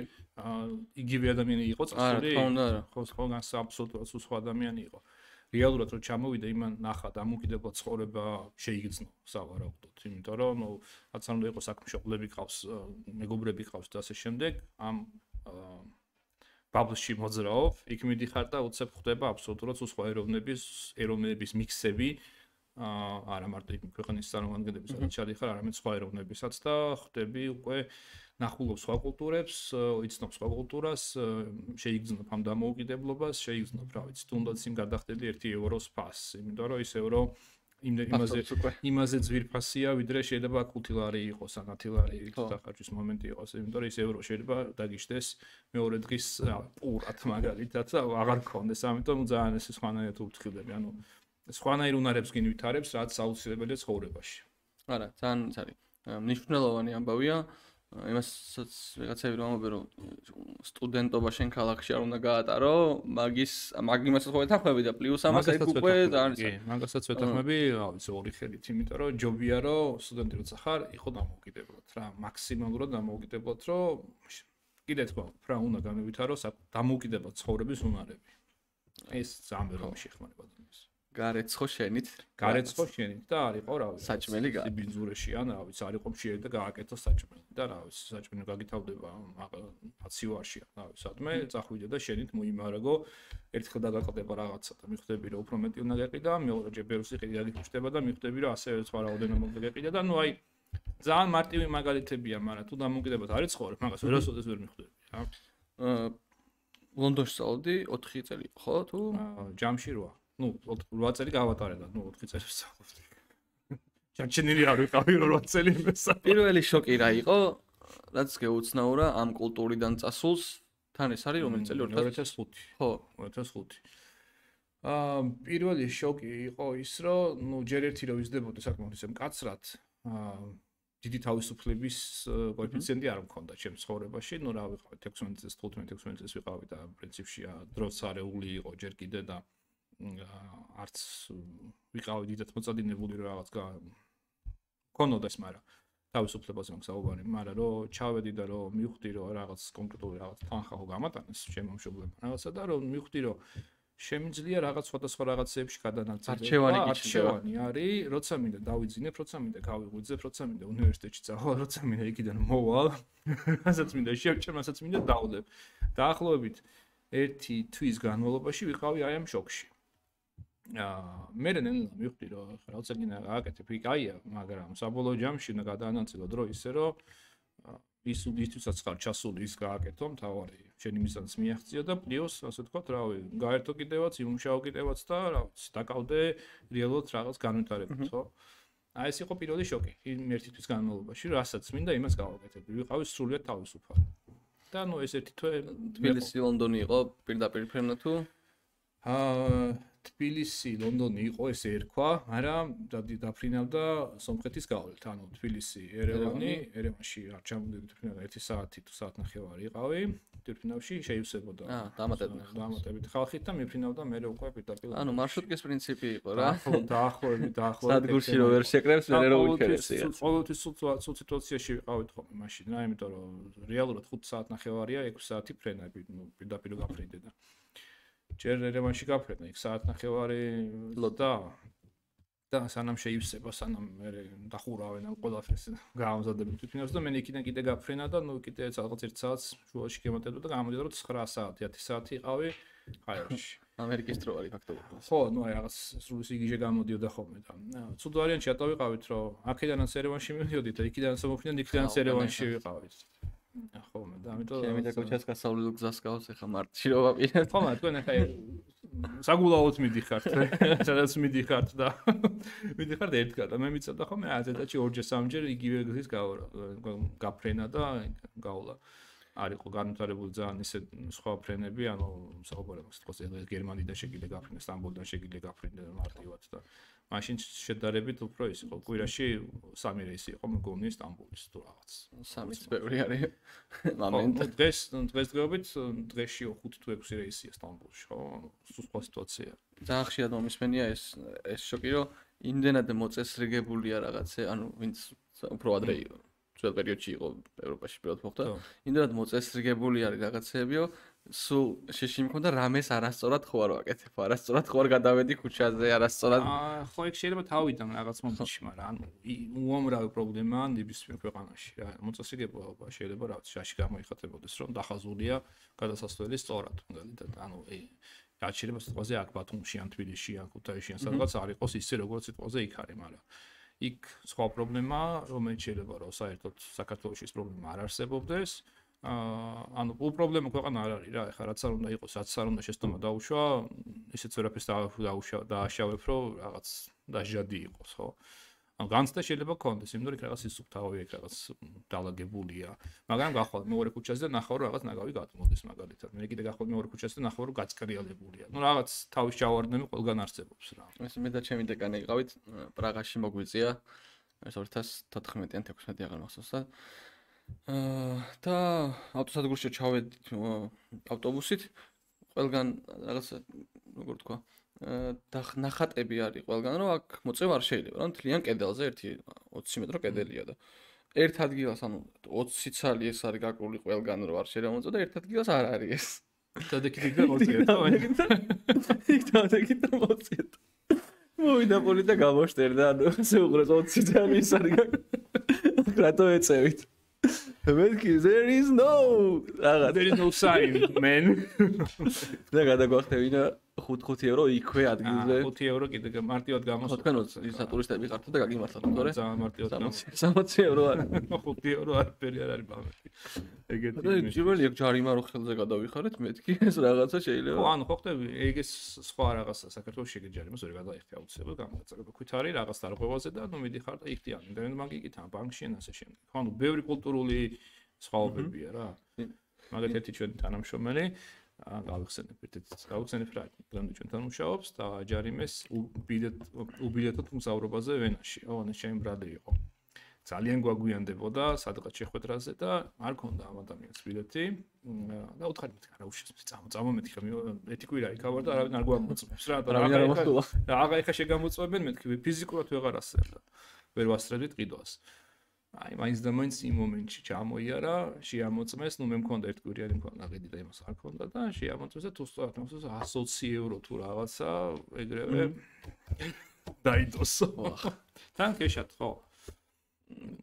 იგივე ადამიანი იყო წასული? ხო, განსა აბსოლუტურად სხვა ადამიანი იყო. რეალურად რომ ჩამოვიდა იმან ნახა დამოუკიდებლად ცხოვრება შეიგრძნო სავარაუდოდ, იმიტომ რომ რაც არ უნდა იყოს საქმშობლები ყავს, მეგობრები ყავს და ასე შემდეგ, ამ ბაბლში მოძრაობ, იქ მიდიხარ და უცებ ხდება აბსოლუტურად სხვა ეროვნების მიქსები, არა მარტო იმ ქვეყნის წარმომადგენლების, სადაც ჩადიხარ, არამედ სხვა ეროვნებისაც და ხდები უკვე ნახულობ სხვა კულტურებს, იცნობ სხვა კულტურას, შეიგრძნობ ამ დამოუკიდებლობას, შეიგრძნობ, რა ვიცი, თუნდაც იმ გადახდები 1 ევროს ფასს, იმიტომ რომ ის euро იმაზე ძვირფასია, ვიდრე შეიძლება 5 ლარი იყოს, ან 10 ლარი დახარჯვის მომენტი იყოს, იმიტომ რომ ის euро შეიძლება დაგიშდეს მეორე დღის პურად მაგალითად და აღარ გქონდეს, ამიტომ ძალიან ეს სხვანაირად უფრთხილდები, ანუ სხვანაირ უნარებს გინვითარებს, რაც აუცილებელია ცხოვრებაში. არა, ძალიან არის მნიშვნელოვანი ამბავია. იმასაც რაღაცები რომ ამბობენ რომ სტუდენტობა შენ ქალაქში არ უნდა გაატარო, მაგიმასაც ხო ეთანხმები და პლუს ამას ეგ უკვე ძალიან კი, მაგასაც ვეთანხმები, რა ვიცი, ორი ხელით, იმიტომ რომ ჯობია რომ სტუდენტი როცა ხარ, იყო დამოუკიდებლად რა, მაქსიმალურად დამოუკიდებლად, რომ კიდე თქვა, რა უნდა განევითარო დამოუკიდებლად ცხოვრების უნარები. ეს ძალიან ბევრი შეეხმარება დონეს. გარეთ ხო შენით? გარეთ ხო შენით და არისო რა ვიცი. საჭმელი გა. ბინძურეში ან რა ვიცი, არისო მშიერი და გააკეთო საჭმელი და რა ვიცი, საჭმელი გაგითავდება აცივარში, რა ვიცი, სადმე წახვიდე და შენით მოიმარაგო, ერთხელ დაგაყდება რაღაცა და მიხვდები რომ უფრო მეტი უნდა გეყიდა, მეორეჯერ ბევრს იყიდი გაგიჩნდება და მიხვდები რომ ასევე სხვა რაოდენობა უნდა გეყიდა და ნუ აი ძალიან მარტივი მაგალითებია, მაგრამ თუ დამოკიდებად არის ცხოვრებ, მაგას ვერასოდეს ვერ მიხვდები, რა. ლონდონში სწავლობდი 4 წელი ხო თუ? ჯამში 8. ნუ 8 წელი გავატარე და ნუ 4 წელი ვსწავლობდი. ჩარჩენილი არ ვიყავი 8 წელი მესა. პირველი შოკი რა იყო? რაც გეუცნაურა ამ კულტურიდან წასულს, თან ეს არის რომელი წელი 2005. ხო, 2005. პირველი შოკი იყო ის, რომ ნუ ჯერ ერთი რომ ვიზრდებოდი საკმაოდ ისე მკაცრად, დიდი თავისუფლების კოეფიციენტი არ მქონდა ჩემს ცხოვრებაში, ნუ რა ვიყავი 16 წელს, 15-16 წელს ვიყავი და პრინციპში დროც არეული იყო ჯერ კიდე და არც ვიყავი დიდად მოწადინებული რომ რაღაც მქონოდა ეს, მაგრამ თავისუფლებაზე მოგსაუბარი, მაგრამ რომ ჩავედი და რომ მივხვდი რომ რაღაც კონკრეტული რაღაც თანხა ხო გამატანეს ჩემო მშობლებმა რაღაცა და რომ მივხვდი რომ შემიძლია რაღაც სხვადასხვა რაღაცეებში გადანაწილება. არჩევანი არის, როცა მინდა დავიძინებ, როცა მინდა გავიღვიძებ, როცა მინდა უნივერსიტეტში წავალ, როცა მინდა იქიდან მოვალ, რასაც მინდა შევჭამ, რასაც მინდა დავდებ. დაახლოებით 1 თვის განმავლობაში ვიყავი აი ამ შოკში. მე ნელა მივხვდი რომ რაღაცა გინდა გააკეთებ, იქ აია, მაგრამ საბოლოო ჯამში უნდა გადაანაწილო დრო ისე რომ ისთვისაც ხარ ჩასული ის გააკეთო, მთავარი შენი მიზანს მიაღწია და პლუს, ასე ვთქვათ, რავი, გაერთო კიდევაც, იმუშაო კიდევაც და რა ვიცი, დაკავდე რეალურად რაღაც განვითარებით, ხო? აი ეს იყო პირველი შოკი, იმ 1 თვის განმავლობაში, რასაც მინდა იმას გავაკეთებდი, ვიყავი სრულიად თავისუფალი. და ნუ ეს ერთი თვე თბილისი, ლონდონი იყო პირდაპირ ფრენა თუ? თბილისი, ლონდონი იყო ესე ერქვა, მაგრამ დაფრინავდა სომხეთის გავლით, ანუ თბილისი, ერევანში არ ჩამოვიდი თვითონ 1 საათი თუ საათნახევარი იყავი, თვითონავში შეივსებოდა. დამატებით ხალხით და მიფრინავდა მე უკვე პირდაპირ. ანუ მარშრუტკის პრინციპი იყო რა. დაახლოებით. სადგურში რო ვერ შეკრებს, მე რო უჩერესი. ყოველთვის სულ სიტუაციაში ვიყავით ხოლმე მაშინ რა, იმიტომ რომ რეალურად 5 საათნახევარია, 6 საათი ფრენები, ნუ პირდაპირ გაფრინდე და ჯერ ერევანში გაფრენა, იქ საათნახევარი და სანამ შეივსება, სანამ მე დახურავენ ამ ყველაფერს გაამზადებ თვითონაც და მე იქიდან კიდე გაფრენა და ნუ კიდე რაღაც 1 საათს შუაში გემატებდა და გამოდიოდა რომ 9 საათი, 10 საათი იყავი ხაერში. ამერიკის დრო არის ფაქტობრივად. ხო, ნუ აი რაღაც სრული სიგიჟე გამოდიოდა ხოლმე და ცუდ ვარიანტში ატოვიყავით რომ აქედანაც ერევანში მივიდოდით და იქიდანაც მომფრინდით, იქიდანაც ერევანში ვიყავით. ხო, და ამიტომ ჩემი და კოჩას გასავლელ გზას გავს ახლა მარტში რო ვაპირებ. ხო, მაგრამ თქვენ ახლა საგულაოდ მიდიხართ, სადაც მიდიხართ და მიდიხართ ერთგან და მე მიწოდა ხოლმე აზეთაში 2-ჯერ 3-ჯერ იგივე გზის გაფრენა და გავლა. არ იყო განვითარებული ძალიან ისე სხვა ფრენები, ანუ საუბარი აქვს თქოს გერმანიდან შეგიძლია გაფრინდეს, სტამბოლიდან შეგიძლია გაფრინდეს მარტივად და მაშინ შედარებით უფრო ის იყო. კვირაში 3 რეისი იყო მგონი სტამბოლის თუ რაღაც. 3-იც ბევრი არის მომენტი. დღესდღეობით დღეში 5 თუ 6 რეისია სტამბოლში, ხო? სულ სხვა სიტუაცია. ძალიან ხშირად მომისმენია ეს შოკი, რომ იმდენად მოწესრიგებულია რაღაცე, ანუ ვინც უფრო ადრე ძველ პერიოდში იყო ევროპაში პირველად მოხდა. იმდენად მოწესრიგებული არის რაღაცეებიო, სულ შეში მქონდა რამეს არასწორად ხო არ ვაკეთებ, არასწორად ხო არ გადავედი ქუჩაზე, არასწორად. ხო, ეგ შეიძლება თავიდან რაღაც მომენტში, მაგრამ ანუ უამრავი პრობლემაა ნებისმიერ ქვეყანაში რა. მოწესრიგება შეიძლება რაღაც შაში გამოიხატებოდეს, რომ დახაზულია გადასასვლელი სწორად, მაგალითად, ანუ რაც შეიძლება სიტყვაზე აქ ბათუმში ან თბილისში ან ქუთაისში ან სადღაც არ იყოს ისე როგორც სიტყვაზე იქ არის, მაგრამ იქ სხვა პრობლემაა, რომელიც შეიძლება რომ საერთოდ საქართველოში ეს პრობლემა არ არსებობდეს. ანუ პრობლემა ქვეყანა არ არის რა, ეხლა რაც არ უნდა იყოს, რაც არ უნდა შეცდომა დაუშვა, ისეც ვერაფერს დააშავებ, რომ რაღაც დაჟადი იყოს, ხო? ანუ განცდა შეიძლება გქონდეს, იმიტომ რომ რაღაც ისუფთავია, რაღაც დალაგებულია. მაგრამ გახვალ მეორე ქუჩაზე და ნახავ რომ რაღაც ნაგავი გადმოდის მაგალითად. მე კიდე გახვალ მეორე ქუჩაზე და ნახავ რომ გაწკრიალებულია. ნუ რაღაც თავის ჩავარდნები ყველგან არსებობს რა. ეს მე და ჩემი დეკანი იყავით პრაღაში მოგვიწია. ეს 2014-ან 16 აღარ მახსოვს და ავტოსადგურში ჩავედით ავტობუსით. ყველგან რაღაც როგორ თქვა და ნახატები არის ყველგან რომ აქ მოწევა არ შეიძლება რა მთლიან კედელზე 20 მეტრო კედელია და ერთ ადგილას ანუ 20 ცალი ეს არის გაკრული ყველგან რომ არ შეიძლება მოწევა და ერთ ადგილას არ არის ეს დადეკით და მოწიეთ იქ დადეკით და მოწიეთ მოვიდა პოლი და გამოშტერდა, ანუ ესე უყურეთ 20 წელი ის არის. რატო ეწევით? მეთქი there is no sign man. და გადაგვახტევინა 5 евро იქვე ადგილზე. 5 евро კიდე მარტივად გამოსვლა. თქვენ ისა ტურისტები ხართ და გაგიმართათ, თორე? ძალიან მარტივად გამოსვლა. 60 евро არის. 5 евро არაფერი არ არის ბამეთი. ეგეთი. და ჯიბელი ჯარიმა რო ხელზე გადავიხარეთ, მეთქი ეს რაღაცა შეიძლება. ხო, ანუ ხო ხტები, ეგეს სხვა რაღაცა საქართველოს შეგე ჯარიმას ვერ გადაიხდი აუცილებლად გამოგაწევება. ქვითარი რაღაც დარღვევაზე და ნუ მიდიხარ და იქთიან. ინტერნეტ ბანკი თან ბანკში ან ასე შემდეგ. ხო, ანუ ბევრი კულტურული სხვაობებია რა. მაგათ ერთი ჩვენ თანამშრომელი გავიხსენებთ ერთ გავხსენებ რა დღემდე ჩვენთან მუშაობს და ჯარიმეს უბილეთოთ მგზავრობაზე ვენაში. ოღონდ ჩემი ბრალი იყო. ძალიან გვაგვიანდებოდა სადღაც შეხვედრაზე და არ ქონდა ამ ადამიანს ბილეთი და უთხარი მეთქი რა უშავს წამომეთქი ხომ ერთი კვირა იქავარ და არავინ არ გვამოწმებს რა და აღა ეხა შეგამოწმებენ მეთქი ფიზიკურად ვეღარ ასწრებდა ვერ ვასწრებდით ყიდვას. აი მაინც და მაინც იმ მომენტში ჩამოიარა, შეამოწმეს, ნუ მე მქონდა ერთ კვირიანი მქონდა ყიდი და იმას არ ქონდა და შეამოწმეს და თუ სწორად მოსწონს 120 евро თუ რაღაცა ეგრევე დაიდოსო. თან კეშად ხო.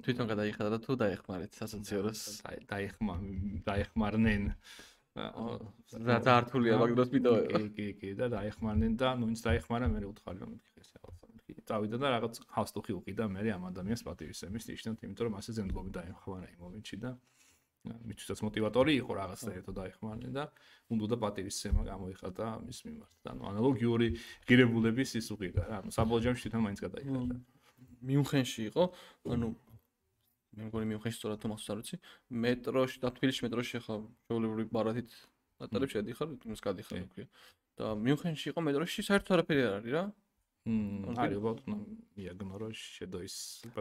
თვითონ გადაიხადა და თუ დაეხმარეთ 120 ევროს. დაეხმარნენ. და დართულია მაგ დროს მიდოება. კი და დაეხმარნენ და ნუ ის დაეხმარა მე უთხარი რომ მეთქი ეს რაღაცა. წავიდა და რაღაც ხალხი უყიდა მე ამ ადამიანს პატივისცემის ნიშნად, იმიტომ რომ ასე ზემდგომი დაეხმარა იმ მომენტში და მისთვის მოტივატორი იყო რაღაც და ერთად დაეხმარნენ და უნდა პატივისცემა გამოიხატა მის მიმართ. და ნუ ანალოგიური ღირებულების ის უყიდა რა. საბოლოო ჯამში თვითონ მაინც გადაიხადა. მიუნხენში იყო, ანუ მე მგონი მიუნხენში სწორად თუ მახსოვს არ ვიცი, მეტროში და თბილისში მეტროში ხა შეუძლებელი ბარათით ნატარებს შედიხარ, იმას გადიხარ ქვია. და მიუნხენში იყო მეტროში საერთოდ არაფერი არ არის რა. არის ბოტნო იაგნორო შედოის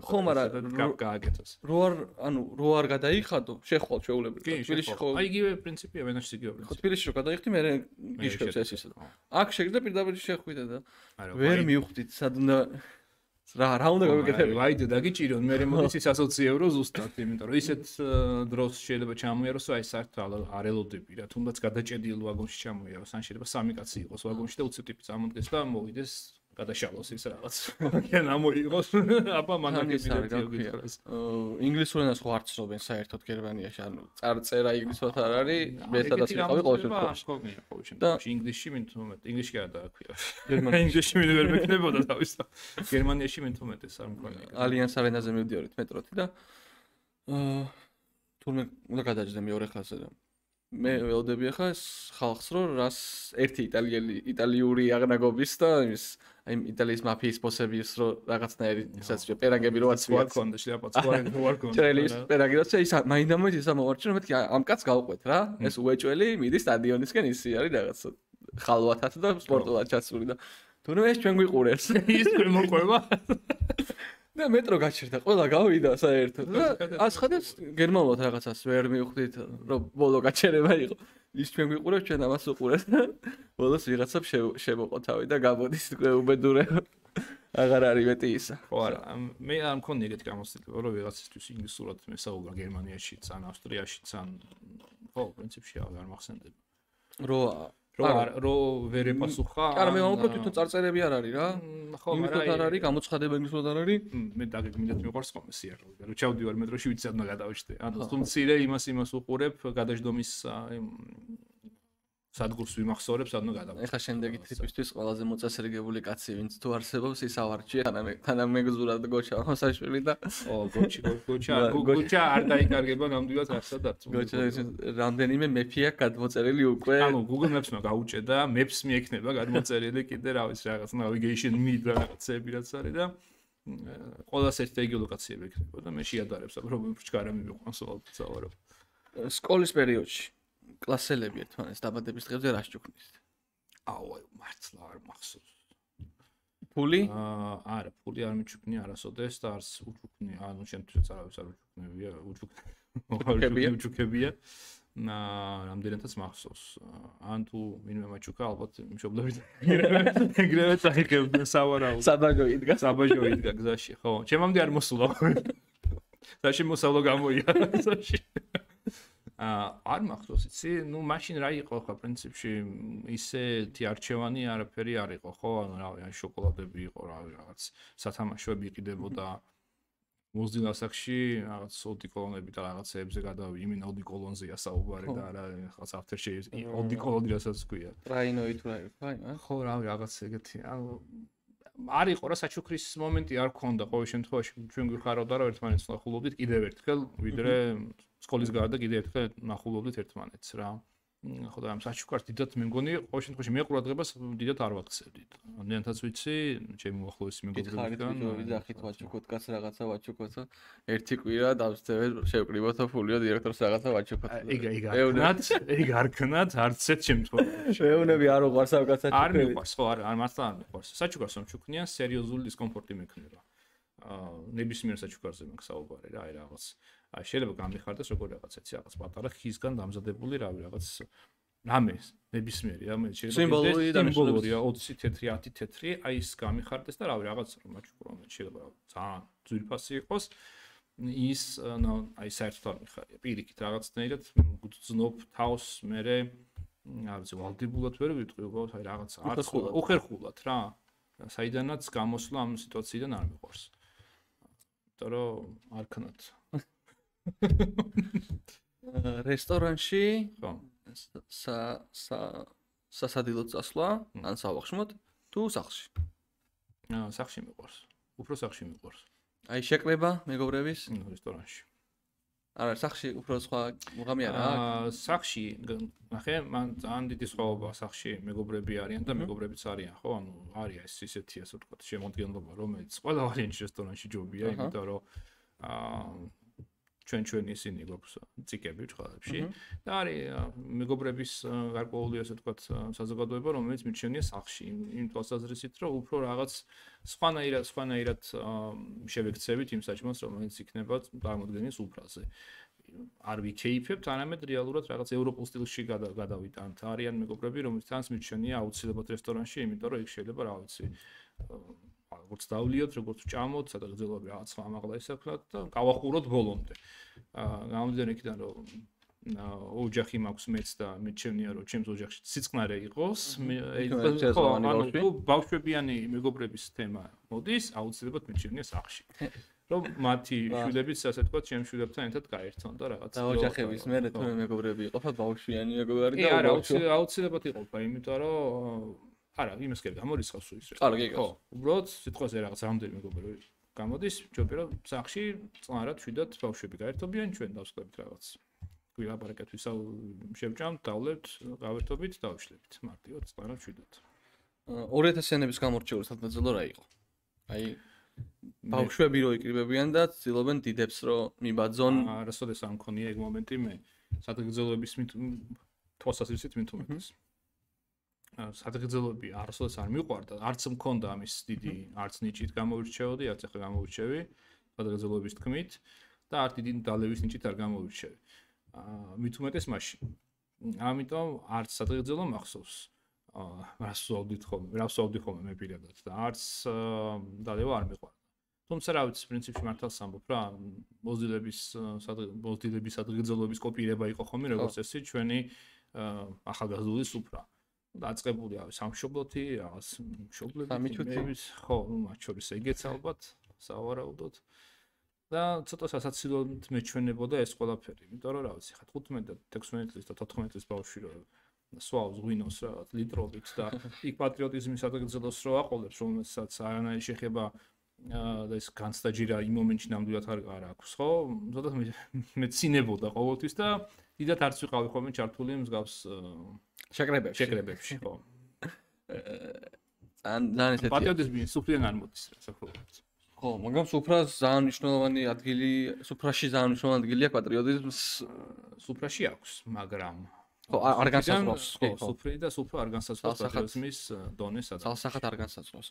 ხო, მაგრამ გააკეთოს. რო არ გადაიხადო, შეხვალ შეუძლებელი. თბილისში ხო. აი იგივე პრინციპია ვენაში იგივე პრინციპია. ხო, თბილისში რო გადაიხდი, მე გიშკებს ეს ისე. აქ შეგდა პირდაპირ შეხვიდე და ვერ მივხვდით სად უნდა რა უნდა გავიკეთებინა. ვაიდე დაგიჭირონ მე მოდის ის 120 евро ზუსტად, იმიტომ რომ ისეთ დროს შეიძლება ჩამოიაროს, აი საერთოდ არ ელოდები რა, თუნდაც გადაჭედილი ვაგონში ჩამოიაროს, ან შეიძლება სამი კაცი იყოს ვაგონში და უცებ ტიპი წამოდგეს და მოვიდეს გადაშალოს ის რაღაც. ან ამოიღოს, აბა მანაკები გიქრეს. ინგლისურ ენას ხო არ ცნობენ საერთოდ გერმანიაში, ანუ წარწერა ინგლისურად არ არის, მე სადაც ვიყავი ყოველ შემთხვევაში. და ინგლისში მით უმეტ, ინგლისში არ დააქვია. ინგლისში მე ვერ მეკნებოდა თავის. გერმანიაში მით უმეტ ეს არ მქონია. ალიანს არენაზე მივდიორით მეტროთი და თურმე უნდა გადაჭდე მეორე ხაზზე და მე ველოდები ახლა ეს ხალხს რომ რას ერთი იტალიური აღნაგობის და ის აი იტალიის მაფიის ბოსების რო რაღაცნაირი ისაც პერანგები რო აცვიათ. ვარქონდა შლაპაც ვარქონდა. ჭრელის პერანგი როცა ის მაინდა-მაინც ისა მოვარჩინე მეთქი ამ კაცს გავყვეთ რა. ეს უეჭველი მიდის სტადიონისკენ ისი არის რაღაცა ხალვათად და სპორტულად ჩასული და თუნდაც ეს ჩვენ გვიყურებს. ის ჩვენ მოყვება. და მეტრო გაჩერდა, ყველა გავიდა საერთოდ და ასხადებს გერმანულად რაღაცას ვერ მივხვდით, რომ ბოლო გაჩერება იყო. ის ჩვენ გვიყურებს, ჩვენ ამას უყურებთ. ბოლოს ვიღაცამ შემოყო თავი და გამოდის უკვე უბედურე. აღარ არის მეტი ისა. ხო არა, მე არ მქონია ეგეთი გამოცდილება, რომ ვიღაცისთვის ინგლისურად მესაუბრა გერმანიაში, ან ავსტრიაში, ან ხო, პრინციპში არ მახსენდება. რო ვერ ეპასუხა. არა, მე უბრალოდ თვითონ წარწერები არ არის რა. ხო, მაგრამ არ არის, გამოცხადება ინგლისურად არ არის. მე დაგეგმილეთ მიყვარს ხოლმე სიარული. რო ჩავდივარ მეტროში ვიცი რა გადავჭდე. ანუ თუ მცირე იმას უყურებ, გადაждომის სადგურს ვიმახსოვრებ, სადნო გადავჭდე. ეხლა შემდეგი ტიპისთვის ყველაზე მოწესრიგებული კაცი, ვინც თუ არსებობს, ის ავარჩია, თანამეგზურად გოჩა მოსაშვილი და ო, გოჩა არ დაიკარგება ნამდვილად არსად არც. გოჩა რამდენიმე მეფია გადმოწერილი უკვე. ანუ Google Maps-მა გაუჭედა, Maps მიექნება გადმოწერილი კიდე რა ვიცი რაღაც navigation mid რაღაცები რაც არის და ყველას ერთ გეოლოკაციები ექნება და მე შეადარებს, რომ ჩქარა მივიყვანს ვალდავარო. სკოლის პერიოდში კლასელები ერთმანეთს დაბადების დღეებზე რა შეჭუქნით? აუ, მართლა არ მახსოვს. ფული? არა, ფული არ მიჩუქნი არასოდეს და არც უჩუქნი. ანუ შემთხვევით არავის არ უჩუქნებია, უჩუქებია. რამდენადაც მახსოვს. ან თუ ვინმე მაჩუქა, ალბათ მშობლები ეგრევე წაიღებდნენ სავარაუდოდ. საბაჟო იდგა გზაში, ხო. ჩემამდე არ მოსულა. საში მოსავლო გამოია. საში. არ მახსოვს იცი, ნუ მაშინ რა იყო ხო პრინციპში ისეთი არჩევანი არაფერი არ იყო ხო, ანუ რავი, შოკოლადები იყო რავი რაღაც სათამაშოები იყიდებოდა მოზილასახში რაღაც ოდიკოლონები და რაღაცეებზე გადავი, იმენ ოდიკოლონზეა საუბარი და არა რაღაც aftershave ოდიკოლონი რასაც ქვია. ტრაინოი თუ რა იყო, აი, ხო, რავი, რაღაც ეგეთი. ანუ არ იყო რა საჩუქრის მომენტი არ ქონდა ყოველ შემთხვევაში ჩვენ გვიხარავდა რომ ერთმანეთს ნახულობდით კიდევ ერთხელ ვიდრე სკოლის გარდა კიდევ ერთხელ ნახულობდით ერთმანეთს რა. ხო და ამ საჩუქარს დიდად მე მგონი ყოველ შემთხვევაში მე ყურადღებას დიდად არ ვაქცევდით. ნენთაც ვიცი, ჩემი უახლოესი მეგობრებიდან ვიძახით ვაჩუქოთ კაც რაღაცა ვაჩუქოთ. ერთი კვირა დავსწრებთ შევკრიბოთო ფულიო დირექტორს რაღაცა ვაჩუქოთ. ეგ არ ქნათ არც ერთ შემთხვევაში. შეეუნები არ უყვარს ამ კაცაჩუქები. არ მიყვარს, ხო, არ მართლა არ მიყვარს. საჩუქარს რომ ჩუქნიან, სერიოზული დისკომფორტი მექნება. ნებისმიერ საჩუქარზე მაქვს საუბარი რა, აი რაღაც. შეიძლება გამიხარდეს როგორ რაღაცა იცი რაღაც პატარა ხისგან დამზადებული რავი რაღაც რამე ნებისმიერი რამე შეიძლება სიმბოლურია 20 თეთრი 10 თეთრი აი ის გამიხარდეს და რავი რაღაც რომ მაჩუქრო შეიძლება ძალიან ძვირფასი იყოს ის აი საერთოდ არ მიხარია პირიქით რაღაცნაირად გძნობ თავს მე არ ვიცი ვალდებულად ვერ ვიტყვი უბრალოდ აი რაღაც უხერხულად რა საიდანაც გამოსვლა ამ სიტუაციიდან არ მიყვარს იმიტომ რომ არ ქნათ რესტორანში ხო სასადილო წასვლა ან სავახშმოდ თუ სახლში სახლში მიყვარს უფრო სახლში მიყვარს აი შეკრება მეგობრების რესტორანში არა სახლში უფრო სხვა მუღამი არა სახლში ნახე მან ძალიან დიდი სხვაობა სახლში მეგობრები არიან და მეგობრებიც არიან ხო ანუ არის ეს ისეთი ასე ვთქვათ შემოადგენლობა რომელიც ყველა ვარიანტში რესტორანში ჯობია იმიტომ რომ ჩვენ ისინი გვაქვს ციკები ჭყალებში და არის მეგობრების გარკვეული ასე ვთქვათ საზოგადოება რომელიც მიჩნეულია სახლში იმ თვალსაზრისით რომ უფრო რაღაც სხვანაირად შევექცევით იმ საჭმელს რომელიც იქნება წარმოდგენის უფრაზე არ ვიქეიფებთ არამედ რეალურად რაღაც ევროპულ სტილში გადავიტანთ არიან მეგობრები რომელთანაც მიჩნეულია აუცილებლად რესტორანში იმიტომ რომ იქ შეიძლება რა ვიცი როგორც დავლიოთ, როგორც ჭამოთ, სადაც გძელობი რაღაც ამაღლა ისექნათ და გავახუროთ ბოლომდე. გამომდინარე იქიდან რომ ოჯახი მაქვს მეც და მიჩვენია რომ ჩემს ოჯახში სიწყნარე იყოს, ანუ ბავშვებიანი მეგობრების თემა მოდის, აუცილებლად მიჩვენია სახლში. რომ მათი შვილებიც ასე ვთქვათ, ჩემს შვილებთან ერთად გაერთონ და რაღაც და ოჯახების მერე თუ მეგობრები იყოფა ბავშვიანი მეგობრები და არა, აუცილებლად იყოფა, იმიტომ რომ არა, იმას კი გამორიცხავს ის რა. ხო, უბრალოდ სიტყვაზე რაღაც რამდენი მეგობრები გამოდის, ჯობია რომ სახლში წყნარად შვიდად ბავშვები გაერთობიან ჩვენ დავსკვებით რაღაც. გვილაპარაკეთ ვისაუ შევჭამთ, დავლებთ, გავერთობით, დავშლებით. მარტივად წყნარად შვიდად. 2000-იანების გამორჩეული სადმოძელო რა იყო? აი ბავშვები რო იკრიბებიან და ცდილობენ დიდებს რომ მიბაძონ. არასოდეს არ მქონია ეგ მომენტი მე. სადღეგრძელოების თვალსაზრისით მithumetes. სადღეგრძელოები არასოდეს არ მიყვარდა, არც მქონდა ამის დიდი, არც ნიჭით გამოვირჩეოდი, არც ახლა გამოვირჩევი სადღეგრძელოების თქმით და არც დიდი დალევის ნიჭით არ გამოვირჩევი. მithumetes მაშინ. ამიტომ არც სადღეგრძელო მახსოვს. რას ვსვავდი ხოლმე მე პირადად და არც დალევა არ მიყვარდა. თუმცა რა ვიცი, პრინციპში მართალს ამბობ რა, მოზილების სადღეგრძელოების კოპირება იყო ხოლმე როგორც წესი ჩვენი ახალგაზრდული სუფრა. დაწყებული არის სამშობლოთი, რაღაც მშობლების, ხო, მათ შორის ეგეც ალბათ, სავარაუდოდ. და ცოტა სასაცილოდ მეჩვენებოდა ეს ყველაფერი, იმიტომ რომ რა ვიცი, ხა 15 და 16 წლის და 14 წლის ბავშვი რო სვავს ღვინოს რაღაც ლიტრობით და იქ პატრიოტიზმის სადღეგრძელოს რო აყოლებს, რომელსაც არანაირი შეხება და ეს განსტაჯირა იმ მომენტში ნამდვილად არ აქვს, ხო? ცოტა მეცინებოდა ყოველთვის და დიდად არც ვიყავი ხოლმე ჩართული მსგავს შეკრებებში, ხო. ძალიან ესეთი პატრიოტიზმი სუფრიდან არ მოდის, საერთოდ. ხო, მაგრამ სუფრას ძალიან მნიშვნელოვანი ადგილი, სუფრაში ძალიან მნიშვნელოვანი ადგილი აქვს პატრიოტიზმს. სუფრაში აქვს, მაგრამ ხო, არ განსაზღვრავს. ხო, სუფრი და სუფრა არ განსაზღვრავს პატრიოტიზმის დონეს სადაც. ძალსახად არ განსაზღვრავს.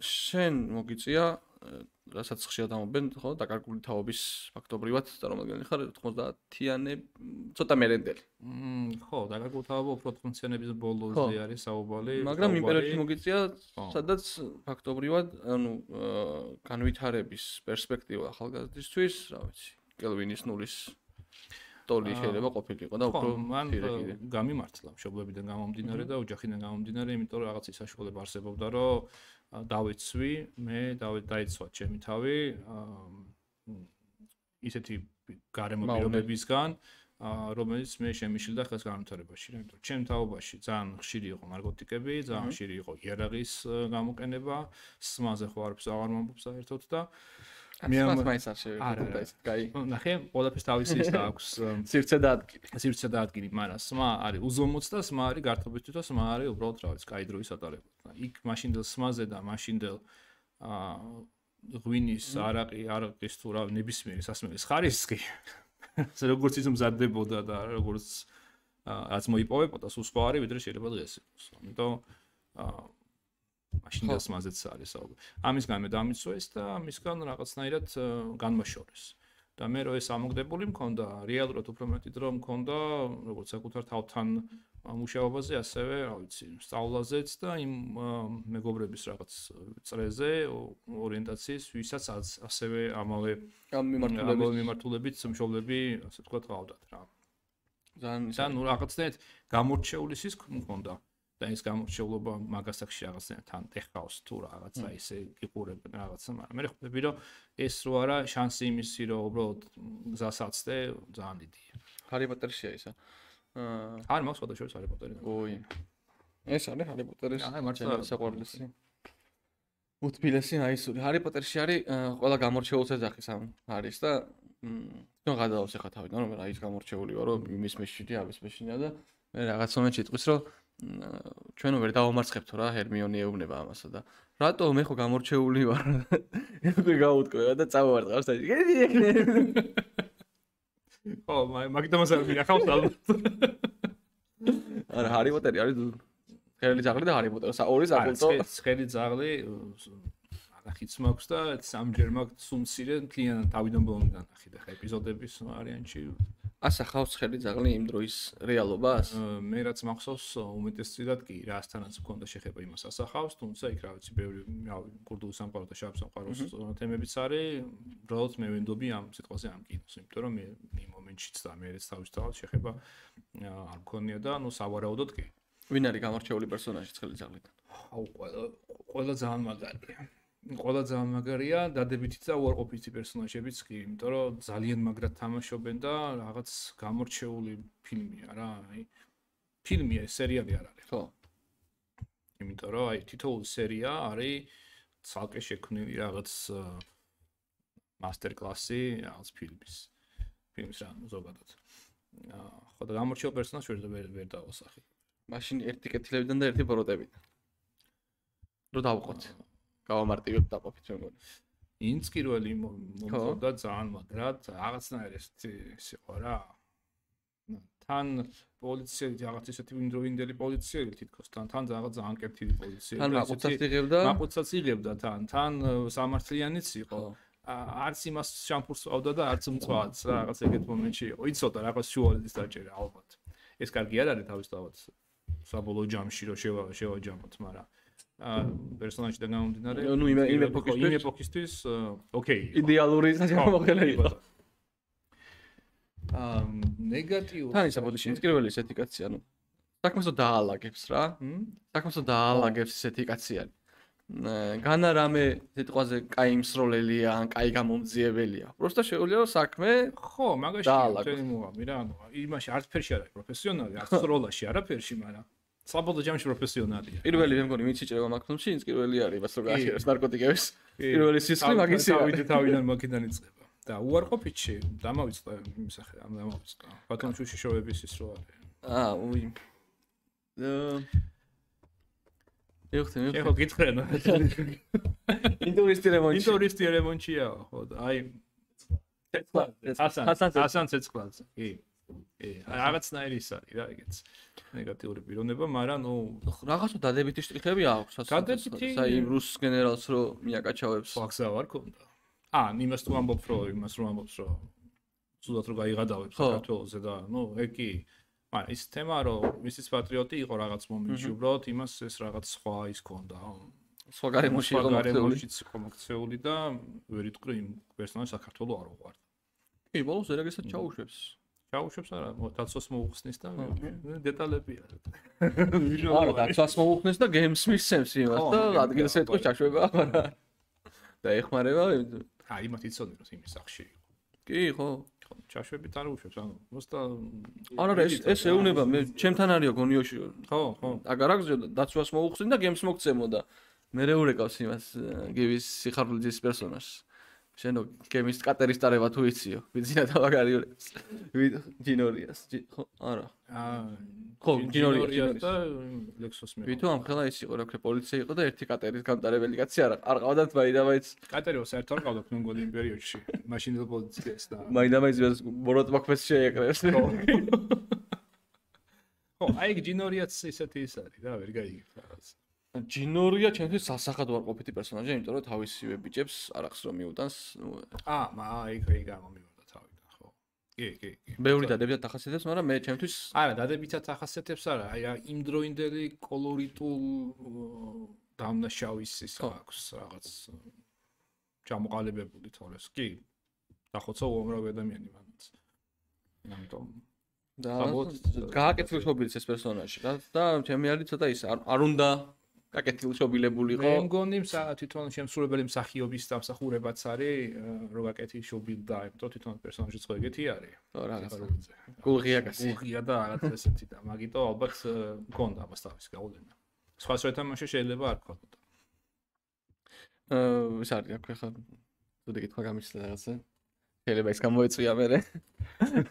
შენ მოგიწია, რასაც ხშირად ამობენ, ხო, დაკარგული თაობის ფაქტობრივად წარმომადგენელი ხარ 90-იანე ცოტა მერენდელი. ხო, დაკარგული თაობა უფრო 90-იანების ბოლოზე არის საუბარი. მაგრამ იმ პერიოდში მოგიწია, სადაც ფაქტობრივად, ანუ განვითარების პერსპექტივა ახალგაზრდისთვის, რა ვიცი, კელვინის ნულის ტოლი შეიძლება ყოფილიყო და უფრო მან გამიმართლა მშობლებიდან გამომდინარე და ოჯახიდან გამომდინარე, იმიტომ რომ რაღაცის საშუალება არსებობდა, რომ დავეცვი, მე დაიცვა ჩემი თავი ისეთი გარემო პირობებისგან, რომელიც მე შემიშლდა ხელს განვითარებაში, იმიტომ რომ ჩემ თაობაში ძალიან ხშირი იყო ნარკოტიკები, ძალიან ხშირი იყო იარაღის გამოყენება, სმაზე ხო არაფერს აღარ მომბობ საერთოდ და მე მაინც არ შევეცდები ისეთ კაი. ნახე, ყველაფერს თავისი ის აქვს სივრცე და ადგილი. სივრცე და ადგილი, მაგრამ სმა არის უზომოც და სმა არის გართობისთვის და სმა არის უბრალოდ რა ვიცი, კაი დროის ატარება. იქ მაშინდელ სმაზე და მაშინდელ ღვინის არაყის თუ რა ნებისმიერი სასმელის ხარისხი როგორც ის მზადდებოდა და როგორც რაც მოიპოვებოდა, სულ სხვა არის, ვიდრე შეიძლება დღეს იყოს. ამიტომ მაშინ და სმაზეც არის საუბარი. ამისგან მე დამიცვეს და ამისგან რაღაცნაირად განმაშორეს. და მე რო ეს ამოგდებული მქონდა, რეალურად უფრო მეტი დრო მქონდა, როგორც საკუთარ თავთან მუშაობაზე, ასევე, რა ვიცი, სწავლაზეც და იმ მეგობრების რაღაც წრეზე, ორიენტაციის, ვისაც ასევე ამავე მიმართულებით მშობლები, ასე ვთქვათ, ყავდათ რა. ძალიან ნუ რაღაცნაირად გამორჩეული ის მქონდა. და ის გამორჩეულობა მაგასაკში რაღაცნაირად თან ეხავს თუ რაღაცა ისე იყურებენ რაღაცა, მაგრამ მე ხვდები რომ ეს რო არა შანსი იმისი რომ უბრალოდ გზას აცდე ძალიან დიდია. ჰარი პოტერშია ისა. არ მაქვს სხვადასხვა ჰარი პოტერი. ოი. ეს არის ჰარი პოტერის მართლა საყვარლესი. უთბილესი აისური. ჰარი პოტერში არის ყველა გამორჩეულს ეძახის ამ არის და თვითონ გადავავს ახლა თავიდან რომ რა ის გამორჩეული ვარ რომ იმის მეშინი ამის მეშინია და მე რაღაც მომენტში იტყვის რომ ჩვენ ვერ დავამარცხებთ რა ჰერმიონი ეუბნება ამასა და რატო მე ხო გამორჩეული ვარ ეგ გაუტყვევა და წავარდყავს და ო მაგდამას არ მიხავს ალბათ არა ჰარი პოტერი არის ხელი ძაღლი და ჰარი პოტერი ორი საკულტო ხელი ძაღლი ნახიც მაქვს და სამჯერ მაქვს სუმცირე მთლიანად თავიდან ბოლომდე ნახი და ხა ეპიზოდების ვარიანტში ასახავს ხელი ძაღლი იმ დროის რეალობას? მე რაც მახსოვს უმეტესწილად კი რასთანაც მქონდა შეხება იმას ასახავს, თუმცა იქ რა ვიცი, ბევრი კურდული სამყარო და შავ სამყაროს თემებიც არის, უბრალოდ მე ვენდობი ამ სიტყვაზე ამ კინოს, იმიტომ რომ მე იმ მომენტშიც და მე ეს თავისთავად შეხება არ მქონია და ნუ სავარაუდოდ კი. ვინ არის გამორჩეული პერსონაჟი ხელი ძაღლიდან? აუ ყველა ძალიან მაგარია. ყველა ძალიან მაგარია, დადებითი და უარყოფითი პერსონაჟებიც კი, იმიტომ რომ ძალიან მაგრად თამაშობენ და რაღაც გამორჩეული ფილმია რა, აი ფილმია, სერიალი არ არის. ხო. იმიტომ რომ აი თითოეული სერია არის ცალკე შექმნილი რაღაც მასტერ-კლასი რაღაც ფილმის რა ზოგადად. ხო და გამორჩეულ პერსონაჟს ვერ დავასახი. მაშინ ერთი კეთილებიდან და ერთი ბოროტებიდან. რო დავყოთ. გავამარტივებ დაყოფით მე მგონი. ინც პირველი მომწონდა ძალიან მაგრად, რაღაცნაირად ის იყო რა. თან პოლიციელი რაღაც ისეთი ვინდროინდელი პოლიციელი თითქოს თან რაღაც ძალიან კეთილი პოლიციელი. თან მაყუცაც იღებდა თან სამართლიანიც იყო. არც იმას შამფურს ავდა და არც მწვავაც რაღაც ეგეთ მომენტში იყო. იცოდა რაღაც შუალედის დაჭერა ალბათ. ეს კარგი არ არის თავისთავად საბოლოო ჯამში რომ შევაჯამოთ, მაგრამ პერსონაჟიდან გამომდინარე, ნუ იმ ეპოქისთვის, ოკეი. იდეალური გამოყენება იყო. ნეგატიურ. თან ისა ბოდიში პირველი ესეთი კაცია, ნუ საქმესო დაალაგებს რა. საქმესო დაალაგებს ესეთი კაცია. განა რამე სიტყვაზე კაი მსროლელია, ან კაი გამომძიებელია. პროსტა შეუძლია რომ საქმე ხო, მაგაში თელი მოამი რა, ანუ იმაში არც ფერში არ არის პროფესიონალი, არც სროლაში არაფერში, მაგრამ საბოლოო ჯამში პროფესიონალია. პირველი მე მგონი ვინც იჭრება მაგ ფილმში, ის პირველი არის, მას რო გააჩერებს ნარკოტიკების. პირველი სისხლი მაგისია. თავიდან მაგიდან იწყება. და უარყოფითში დამავიწყდა იმისახე, ამ დამავიწყდა. ბატონჩუში შოების ის რო არის. უი. ეხლა ეხლა გითხრენ. ინტურისტი რემონტია, ხო და აი ასან ცეცხლაძე. კი. რაღაცნაირი ის არის რა, ეგეც ნეგატიური პიროვნება, მაგრამ ნუ რაღაცა დადებითი შტრიხები აქვს, საერთოდ იმ რუს გენერალს რო მიაკაჩავებს. ვახსა ვარ ქონდა. იმას თუ ამბობთ რომ ზუსტად რომ გაიღადავებს საქართველოზე და ნუ ეგ კი მაგრამ ის თემა რომ ისიც პატრიოტი იყო რაღაც მომენტში, უბრალოდ იმას ეს რაღაც სხვა ის ქონდა. სხვა გარემოში იყო მოქცეული და ვერ იტყვი იმ პერსონაჟს საქართველოს არ უყვარდა. კი, ბოლოს ერაგესაც ჩაუშვებს. ჩაუშვებს არა დაცვას მოუხსნის და დეტალებია. არა, დაცვას მოუხსნის და გეიმს მისცემს იმას და ადგილს ეთქოს ჩაშვება, მაგრამ და ეხმარება იმათ იცოდნენ რომ იმის სახში იყო. კი, ხო. ჩაშვებით არ უშვებს, ანუ მოსტა არა, ეს ეუნება, მე ჩემთან არისო გონიოში. ხო. აგარაკს დაცვას მოუხსნი და გემს მოგცემო და მე რეურეკავს იმას გივის სიხარულიძის პერსონაჟს. შენო გემის კატერის ტარება თუ იციო, ვიძინა და მაგარიურებს. ჯინორიას, ხო, არა. ხო, ჯინორიას და ლექსოს მე. ვითო ამ ხელა ის იყო, რა ქვია, პოლიცია იყო და ერთი კატერის გამტარებელი კაცი არ ყავდათ მაინდამაინც. კატეროს საერთოდ არ ყავდათ მონგოლიან პერიოდში. მაშინ էլ პოლიციას და მაინდამაინც ბოროტმოქმედს შეეკრეს. ხო, აი ჯინორიაც ისეთი ის არის რა, ვერ გაიგებ რაღაც. ჯინორია ჩემთვის სასახად უარყოფითი პერსონაჟია, იმიტომ რომ თავისივე ბიჭებს არახს რომ მიუტანს, ეგ გამომივიდა თავიდან, ხო. კი. ბევრი დადებითად ახასიათებს, მაგრამ მე ჩემთვის არა, დადებითად ახასიათებს არა, აი იმ დროინდელი კოლორიტულ დამნაშავის ის აქვს რაღაც ჩამოყალიბებული თორეს. კი. დახოცა უამრავი ადამიანი მანაც. ამიტომ და გააკეთილშობილი ეს პერსონაჟი რა და ჩემი არის ცოტა ის არ უნდა გაკეთილშობილებულიყო. მე მგონი თვითონ შემსრულებელი მსახიობის დამსახურებაც არის რომ გაკეთილშობილდა, იმიტომ თვითონ პერსონაჟიც ხო ეგეთი არის. ხო რაღაცა. გულღია კაცი. გულღია და რაღაც ესეთი და მაგიტო ალბათ მგონდა ამას თავის გავლენა. სხვა თამაში შეიძლება არ გქონოდა. ის არის აქ ხა თუ კითხვა გამიშლა რაღაცა. შეიძლება ის გამოეწვია მე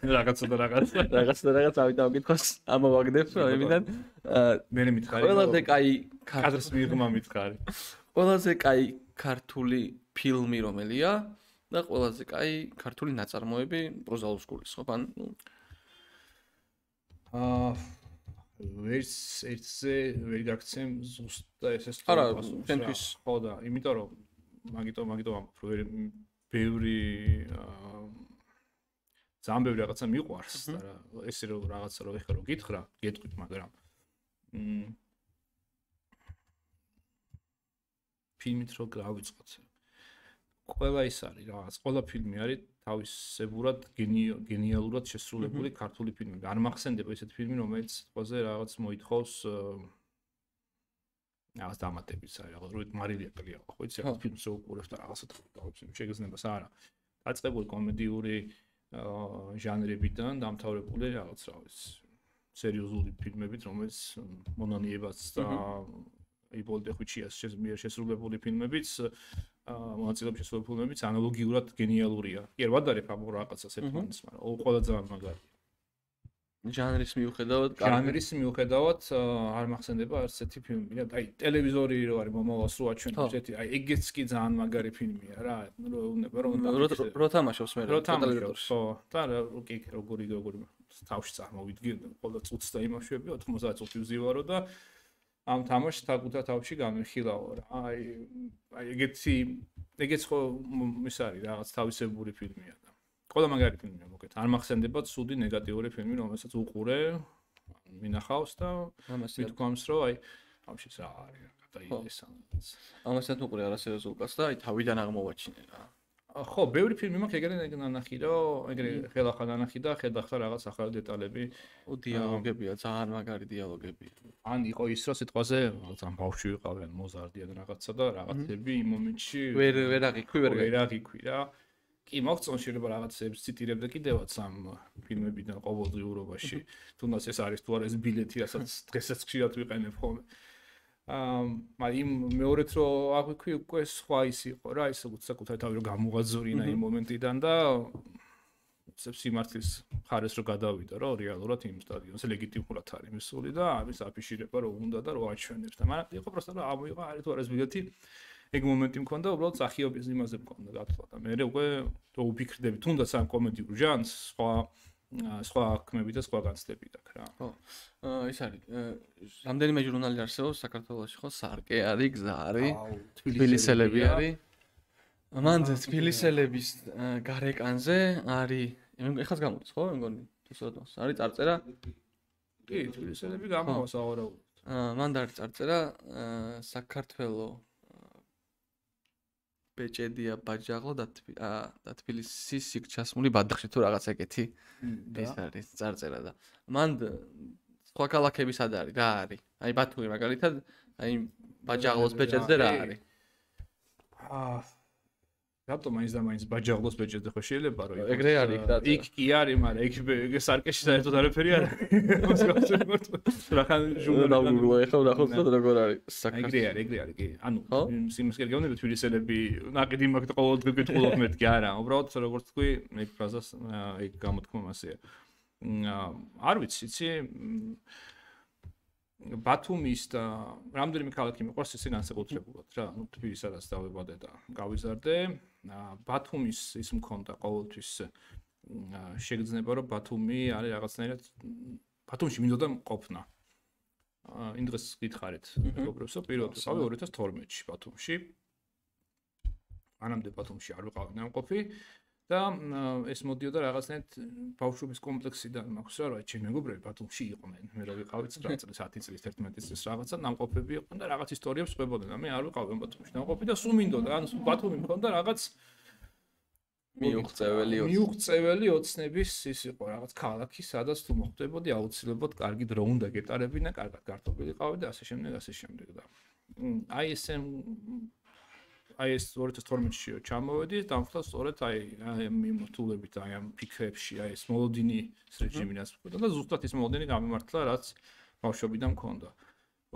რაღაცა და რაღაც ავიდა მკითხოს ამოვაგდებ ამიდან მე მითხარი ყველაზე კაი კადრს მიღმა მითხარი ყველაზე კაი ქართული ფილმი რომელია და ყველაზე კაი ქართული ნაწარმოები პროზაულ სკოლის ხო ან ერთზე ვერ გაქცემ ზუსტად ეს არა ჩვენთვის ხო და იმიტომ რომ მაგიტომ ბევრი ძალიან ბევრი რაღაცა მიყვარს და ესე რომ რაღაცა რო ეხლა რო გითხრა, გეტყვით, მაგრამ ფილმით რო გავიწყოთ. ყველა ის არის რაღაც, ყველა ფილმი არის თავისებურად გენიალურად შესრულებული ქართული ფილმები. არ მახსენდება ესეთი ფილმი, რომელიც ყველაზე რაღაც მოითხოვს რაღაც დამატებიც არის, რაღაც მარილია კლია, ხო იცი, რაღაც ფილმს რო უყურებ და რაღაცა დავებს, შეგეძლებას არა. დაწყებული კომედიური ჟანრებიდან დამთავრებული რაღაც რა ვიცი, სერიოზული ფილმებით, რომელიც მონანიებაც და იბოლდე ხუჩიას შესრულებული ფილმებიც, მონაწილეობის შესრულებული ფილმებიც ანალოგიურად გენიალურია. კი, არ ვადარებ ამ რაღაცას ერთმანეთს, მაგრამ ყველა ძალიან მაგარია. ჟანრის მიუხედავად არ მახსენდება არც ერთი ფილმი. აი, ტელევიზორი რო არის მომავალს რო აჩვენებს, ესეთი, აი, ეგეც კი ძალიან მაგარი ფილმია რა. რო თამაშობს მე ტელევიზორში. ხო, და კი, როგორი თავში წარმოვიდგენ, ყველა წუთს და იმაშვები, 90 წუთი ვზივარო და ამ თამაშს თაკუთა თავში გამიხილავო რა. აი, ეგეც ხო ის არის რაღაც თავისებური ფილმია და ყველა მაგარი ფილმია მოკეთ. არ მახსენდება ცუდი ნეგატიური ფილმი, რომელსაც უყურე, მინახავს და მithქვამს, რომ აი, ამშიც რა არის, გადაიდეს. ამასაც უყურე არასერიოზულკაც და აი თავიდან აღმოვაჩინე რა. ხო, ბევრი ფილმი მაქვს ეგრე ნანახი, რომ ეგრე ხელახან ნანახი და ხედახდა რაღაც ახალი დეტალები. დიალოგებია, ძალიან მაგარი დიალოგებია. ან იყო ის, რომ სიტყვაზე ძალიან ბავშვი ვიყავენ, მოზარდი ან რაღაცა და რაღაცები იმ მომენტში ვერ აღიქვი რა. კი, მოგწონს შეიძლება რაღაცებს ციტირებდა კიდევაც ამ ფილმებიდან ყოველდღიურობაში. თუნდაც ეს არის თუ არა ეს ბილეთი, რასაც დღესაც ხშირად ვიყენებ ხოლმე. მაგრამ მეორეთ რო აღვიქვი უკვე სხვა ის იყო რა, ის საკუთარი თავი რო გამოღაძორინა იმ მომენტიდან და სიმართლის ხარეს რო გადავიდა, რომ რეალურად იმ სტადიონზე ლეგიტიმურად არის მისული და ამის აფიშირება რო უნდა და რო აჩვენებს და მაგრამ იყო პროსტა რომ ამოიღო არის თუ არა ეს ბილეთი. ეგ მომენტი მქონდა, უბრალოდ სახიობის იმაზე მქონდა გათვლა და მე უკვე რო ვფიქრდები, თუნდაც ამ კომედიურ ჟანრს, სხვა აქმები და სხვა განცდები დაქვს რა. ხო. ის არის. რამდენიმე ჟურნალი არსებობს საქართველოში, ხო? სარკე არის, გზა არის, თბილისელები არის. მან თბილისელების გარეკანზე არის, ეხლა გამოდის, ხო? მე მგონი, თუ სწორად არის წარწერა. კი, თბილისელები გამოვა საავარაუდოდ. მან არის წარწერა საქართველოს ბეჭედია ბაჯაღლო და თბილისის იქ ჩასმული ბადახში თუ რაღაც ეგეთი ეს არის წარწერა და მან სხვა ქალაქები სად არის რა არის აი ბათუმი მაგალითად აი ბაჯაღლოს ბეჭედზე რა არის რატომ მაინც და მაინც ბაჯაღლოს ბეჭედზე ხო შეიძლება რომ ეგრე არის რა იქ კი არის მაგრამ იქ სარკეში საერთოდ არაფერი არ არის რახან ჟურნალისტი ეხლა ვნახოთ როგორ არის ეგრე არის კი ანუ სიმის გეგმები თბილისელები ნაკიდი მაგ ყოველდღე გეტყულობ მეთქი არა უბრალოდ როგორც თქვი მე ფრაზას ეგ გამოთქმა მასეა არ ვიცი იცი ბათუმის და რამდენიმე ქალაქი მიყვარს ისე განსაკუთრებულად რა ნუ თბილისსაც დავებადე და გავიზარდე ბათუმის ის მქონდა ყოველთვის შეგრძნება რომ ბათუმი არის რაღაცნაირად ბათუმში მინდოდა ყოფნა იმ დღეს გითხარით მეგობრებსო პირველად ვიყავი 2012-ში ბათუმში ანამდე ბათუმში არ ვიყავი ნამყოფი და ეს მოდიოდა რაღაცნაირად ბავშვობის კომპლექსიდან მაქვს რა ჩემი მეგობრები ბათუმში იყვნენ მე რა ვიყავი 9 წლის 10 წლის 11 წლის რაღაცა ნამყოფები იყვნენ და რაღაც ისტორიებს ყვებოდნენ და მე არ ვიყავი ბათუმში ნამყოფი და სულ მინდოდა ან ბათუმი მქონდა რაღაც მიუღწეველი ოცნების ის იყო რაღაც ქალაქი სადაც თუ მოხვდებოდი აუცილებლად კარგი დრო უნდა გეტარებინა კარგად გართობილი ყავი და ასე შემდეგ და აი ეს 2012-ში ჩამოვედი და დამხდა სწორედ აი ამ მიმართულებით აი ამ ფიქრებში აი ეს მოლოდინის რეჟიმი რაც მქონდა და ზუსტად ის მოლოდინი გამიმართლა რაც ბავშვობიდან მქონდა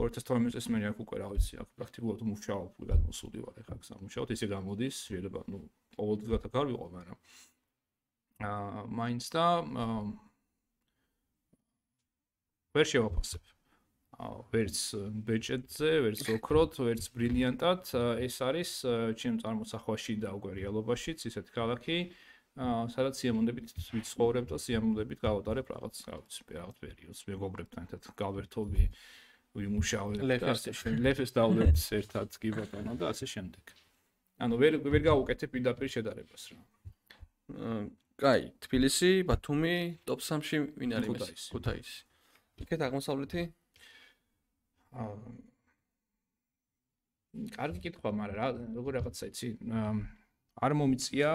2012 წელს მე აქ უკვე რა ვიცი აქ პრაქტიკულად მუშაობ გადმოსული ვარ ეხლა აქ სამუშაოდ ისე გამოდის შეიძლება ნუ ყოველდღიურად აქ არ ვიყო მაგრამ მაინც და ვერ შევაფასებ ვერც ბეჭედზე, ვერც ოქროთ, ვერც ბრილიანტად, ეს არის ჩემ წარმოსახვაში და უკვე რეალობაშიც ისეთი ქალაქი, სადაც სიამოვნებით ვიცხოვრებ და სიამოვნებით გავატარებ რაღაც პერიოდს მეგობრებთან ერთად გავერთობი, ვიმუშავებ და ასე შემდეგ. ლეფეს დავლებთ ერთად კი ბატონო და ასე შემდეგ. ანუ ვერ გავუკეთებ პირდაპირ შედარებას რა. კაი, თბილისი, ბათუმი, ტოპ 3-ში ვინ არის? ქუთაისი. იქეთ აღმოსავლეთი კარგი კითხვა, მაგრამ რა როგორ რაღაცა იცი, არ მომიწია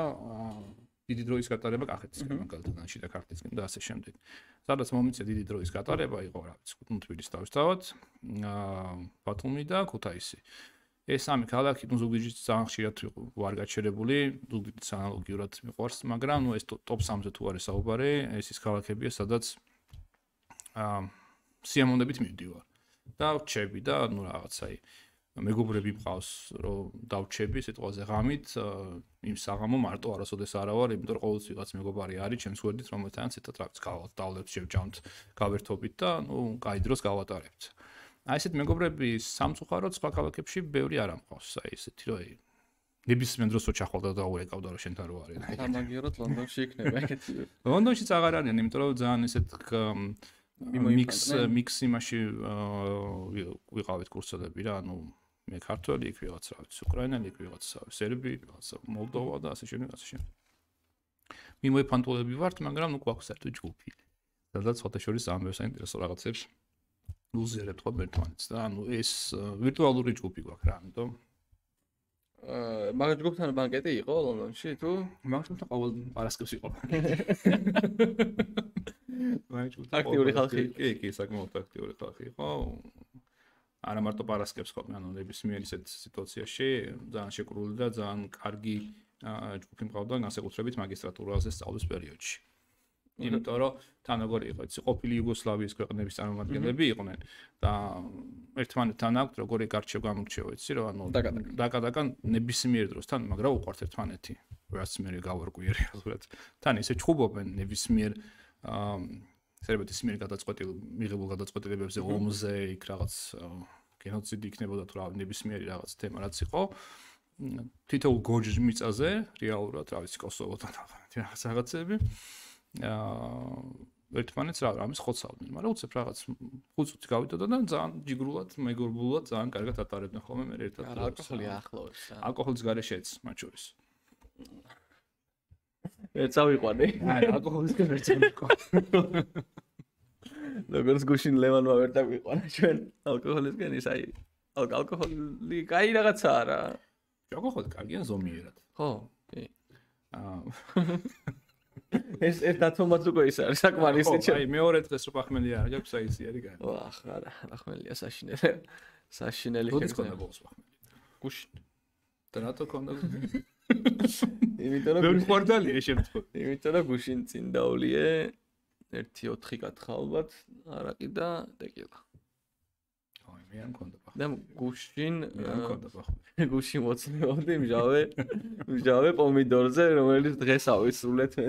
დიდი დროის გატარება კახეთისკენ, მაგალითად, შიდა ქართლისკენ და ასე შემდეგ. სადაც მომიწია დიდი დროის გატარება, იყო რა ვიცი, თბილისი თავისთავად, ბათუმი და ქუთაისი. ეს სამი ქალაქი, ნუ ზუგდიდში ძალიან ხშირად ვარ გაჩერებული, ზუგდიდს ანალოგიურად მიყვარს, მაგრამ ნუ ეს ტოპ 3-ზე თუ არის საუბარი, ეს ის ქალაქებია, სადაც სიამოვნებით მივდივარ. და ვჩები და ნუ რაღაცაი მეგობრები მყავს რომ დავჩები სიტყვაზე ღამით იმ საღამო მარტო არასოდეს არა ვარ იმიტომ რომ ყოველთვის ვიღაც მეგობარი არის ჩემს გვერდით რომელთანაც ერთად რაღაც გავდავლებთ შევჭამთ გავერთობით და ნუ კაი დროს გავატარებთ აი ესეთ მეგობრები სამწუხაროდ სხვა ქალაქებში ბევრი არ ამყავს აი ესეთი რომ ნებისმიერ დროს ოჩახვალდა და დაურეკავდა რომ შენთან რო არის სამაგიეროდ ლონდონში იქნება ეგეთი ლონდონშიც აღარ არიან იმიტომ რომ ძალიან ესეთ მიქს იმაში ვიყავით კურსელები რა, ანუ მე ქართველი იქ ვიღაც რა ვიცი, უკრაინელი იქ ვიღაც სერბი, ვიღაც მოლდოვა და ასე შემდეგ. მიმოიფანტულები ვართ, მაგრამ ნუ გვაქვს საერთო ჯგუფი. სადაც ფოტოშორის ამბებს საინტერესო რაღაცებს უზიარებთ ხოლმე ერთმანეთს და ანუ ეს ვირტუალური ჯგუფი გვაქვს რა, ამიტომ მაგ ჯგუფთან ბანკეტი იყო ლონდონში თუ? მაგ ჯგუფთან ყოველ პარასკევს იყო. აქტიური ხალხი. კი, საკმაოდ აქტიური ხალხი იყო. არა მარტო პარასკევს ხოლმე, ანუ ნებისმიერ ისეთ სიტუაციაში ძალიან შეკრული და ძალიან კარგი ჯგუფი მყავდა განსაკუთრებით მაგისტრატურაზე სწავლის პერიოდში. იმიტომ რომ თან როგორი იყო, იცი, ყოფილი იუგოსლავიის ქვეყნების წარმომადგენლები იყვნენ და ერთმანეთთან აქვთ როგორი გარჩევ-გამორჩევ, იცი, რომ ანუ დაკა ნებისმიერ დროს თან, მაგრამ უყვართ ერთმანეთი. რაც მე გავარკვიე რეალურად. თან ისე ჩხუბობენ ნებისმიერ სერბეთის მიერ მიღებულ გადაწყვეტილებებზე ომზე იქ რაღაც გენოციდი იქნებოდა თუ რა ნებისმიერი რაღაც თემა რაც იყო თითოეულ გორჯის მიწაზე რეალურად რა ვიცი კოსოვოთან რაღაცები ერთმანეთს რამის ხოცავდნენ მაგრამ უცებ რაღაც 5 წუთი გავიტოდა და ძალიან ჯიგრულად მეგობრულად ძალიან კარგად ატარებდნენ ხოლმე მე ერთად ალკოჰოლი ახლოვებს ალკოჰოლის გარეშეც მათ შორის ვერ წავიყვანე. არა, ალკოჰოლისგან ვერ წავიყვანე. როგორც გუშინ ლევანმა ვერ დავიყვანა ჩვენ ალკოჰოლისგან ის აი ალკოჰოლი კაი რაღაცაა რა. ჯოგოხოდ კარგია ზომიერად. ხო, კი. ეს ერთათომაც უკვე ის არის საკმარისი ხო, აი მეორე დღეს რო პახმელი არ გაქვს, აი ისი არის გაი. ვახ, არა, პახმელია საშინელი. საშინელი როდის ქონდა ბოლოს პახმელი? გუშინ. და რატო ქონდა? იმიტომ რომ ბევრი ხვარდალია შემთხვევით. იმიტომ რომ გუშინ წინ დავლიე 1-4 კათხა ალბათ, არაკი და ტეკილა. აი, მე არ მქონდა პახმელი. და გუშინ არ მქონდა პახმელი. გუშინ მოცნებდი მჟავე პომიდორზე, რომელიც დღეს ავისრულეთ მე.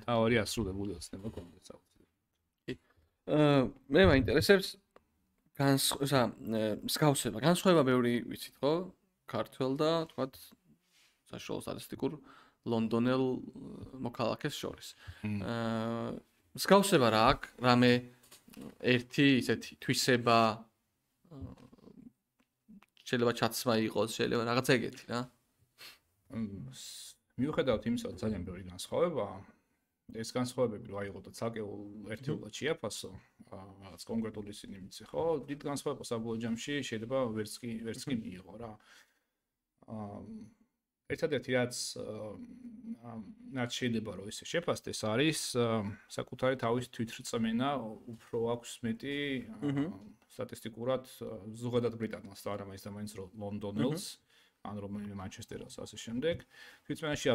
თავი ასრულებული ოცნება კონდა საუბრობ. მე მაინტერესებს მსგავსება, განსხვავება ბევრი ვიცით ხო? ქართველ და თქვათ საშუალო სტატისტიკურ ლონდონელ მოქალაქეს შორის. მსგავსება რა აქვს? რამე ერთი ისეთი თვისება შეიძლება ჩაცმა იყოს, შეიძლება რაღაცა ეგეთი რა. მიუხედავად იმისა, რომ ძალიან ბევრი განსხვავებაა, ეს განსხვავებები რა იყო და ცალკეულ ერთეულად შეაფასო, რაღაც კონკრეტული ისინი მიცი, ხო? დიდ განსხვავებას საბოლოო ჯამში შეიძლება ვერც კი მიიღო რა. ერთადერთი რაც შეიძლება რომ ისე შეფასდეს არის საკუთარი თავის თვითრწმენა უფრო აქვს მეტი სტატისტიკურად ზოგადად ბრიტანელს და არა მაინც და მაინც ლონდონელს ან რომელიმე მანჩესტერელს ასე შემდეგ თვითრწმენაში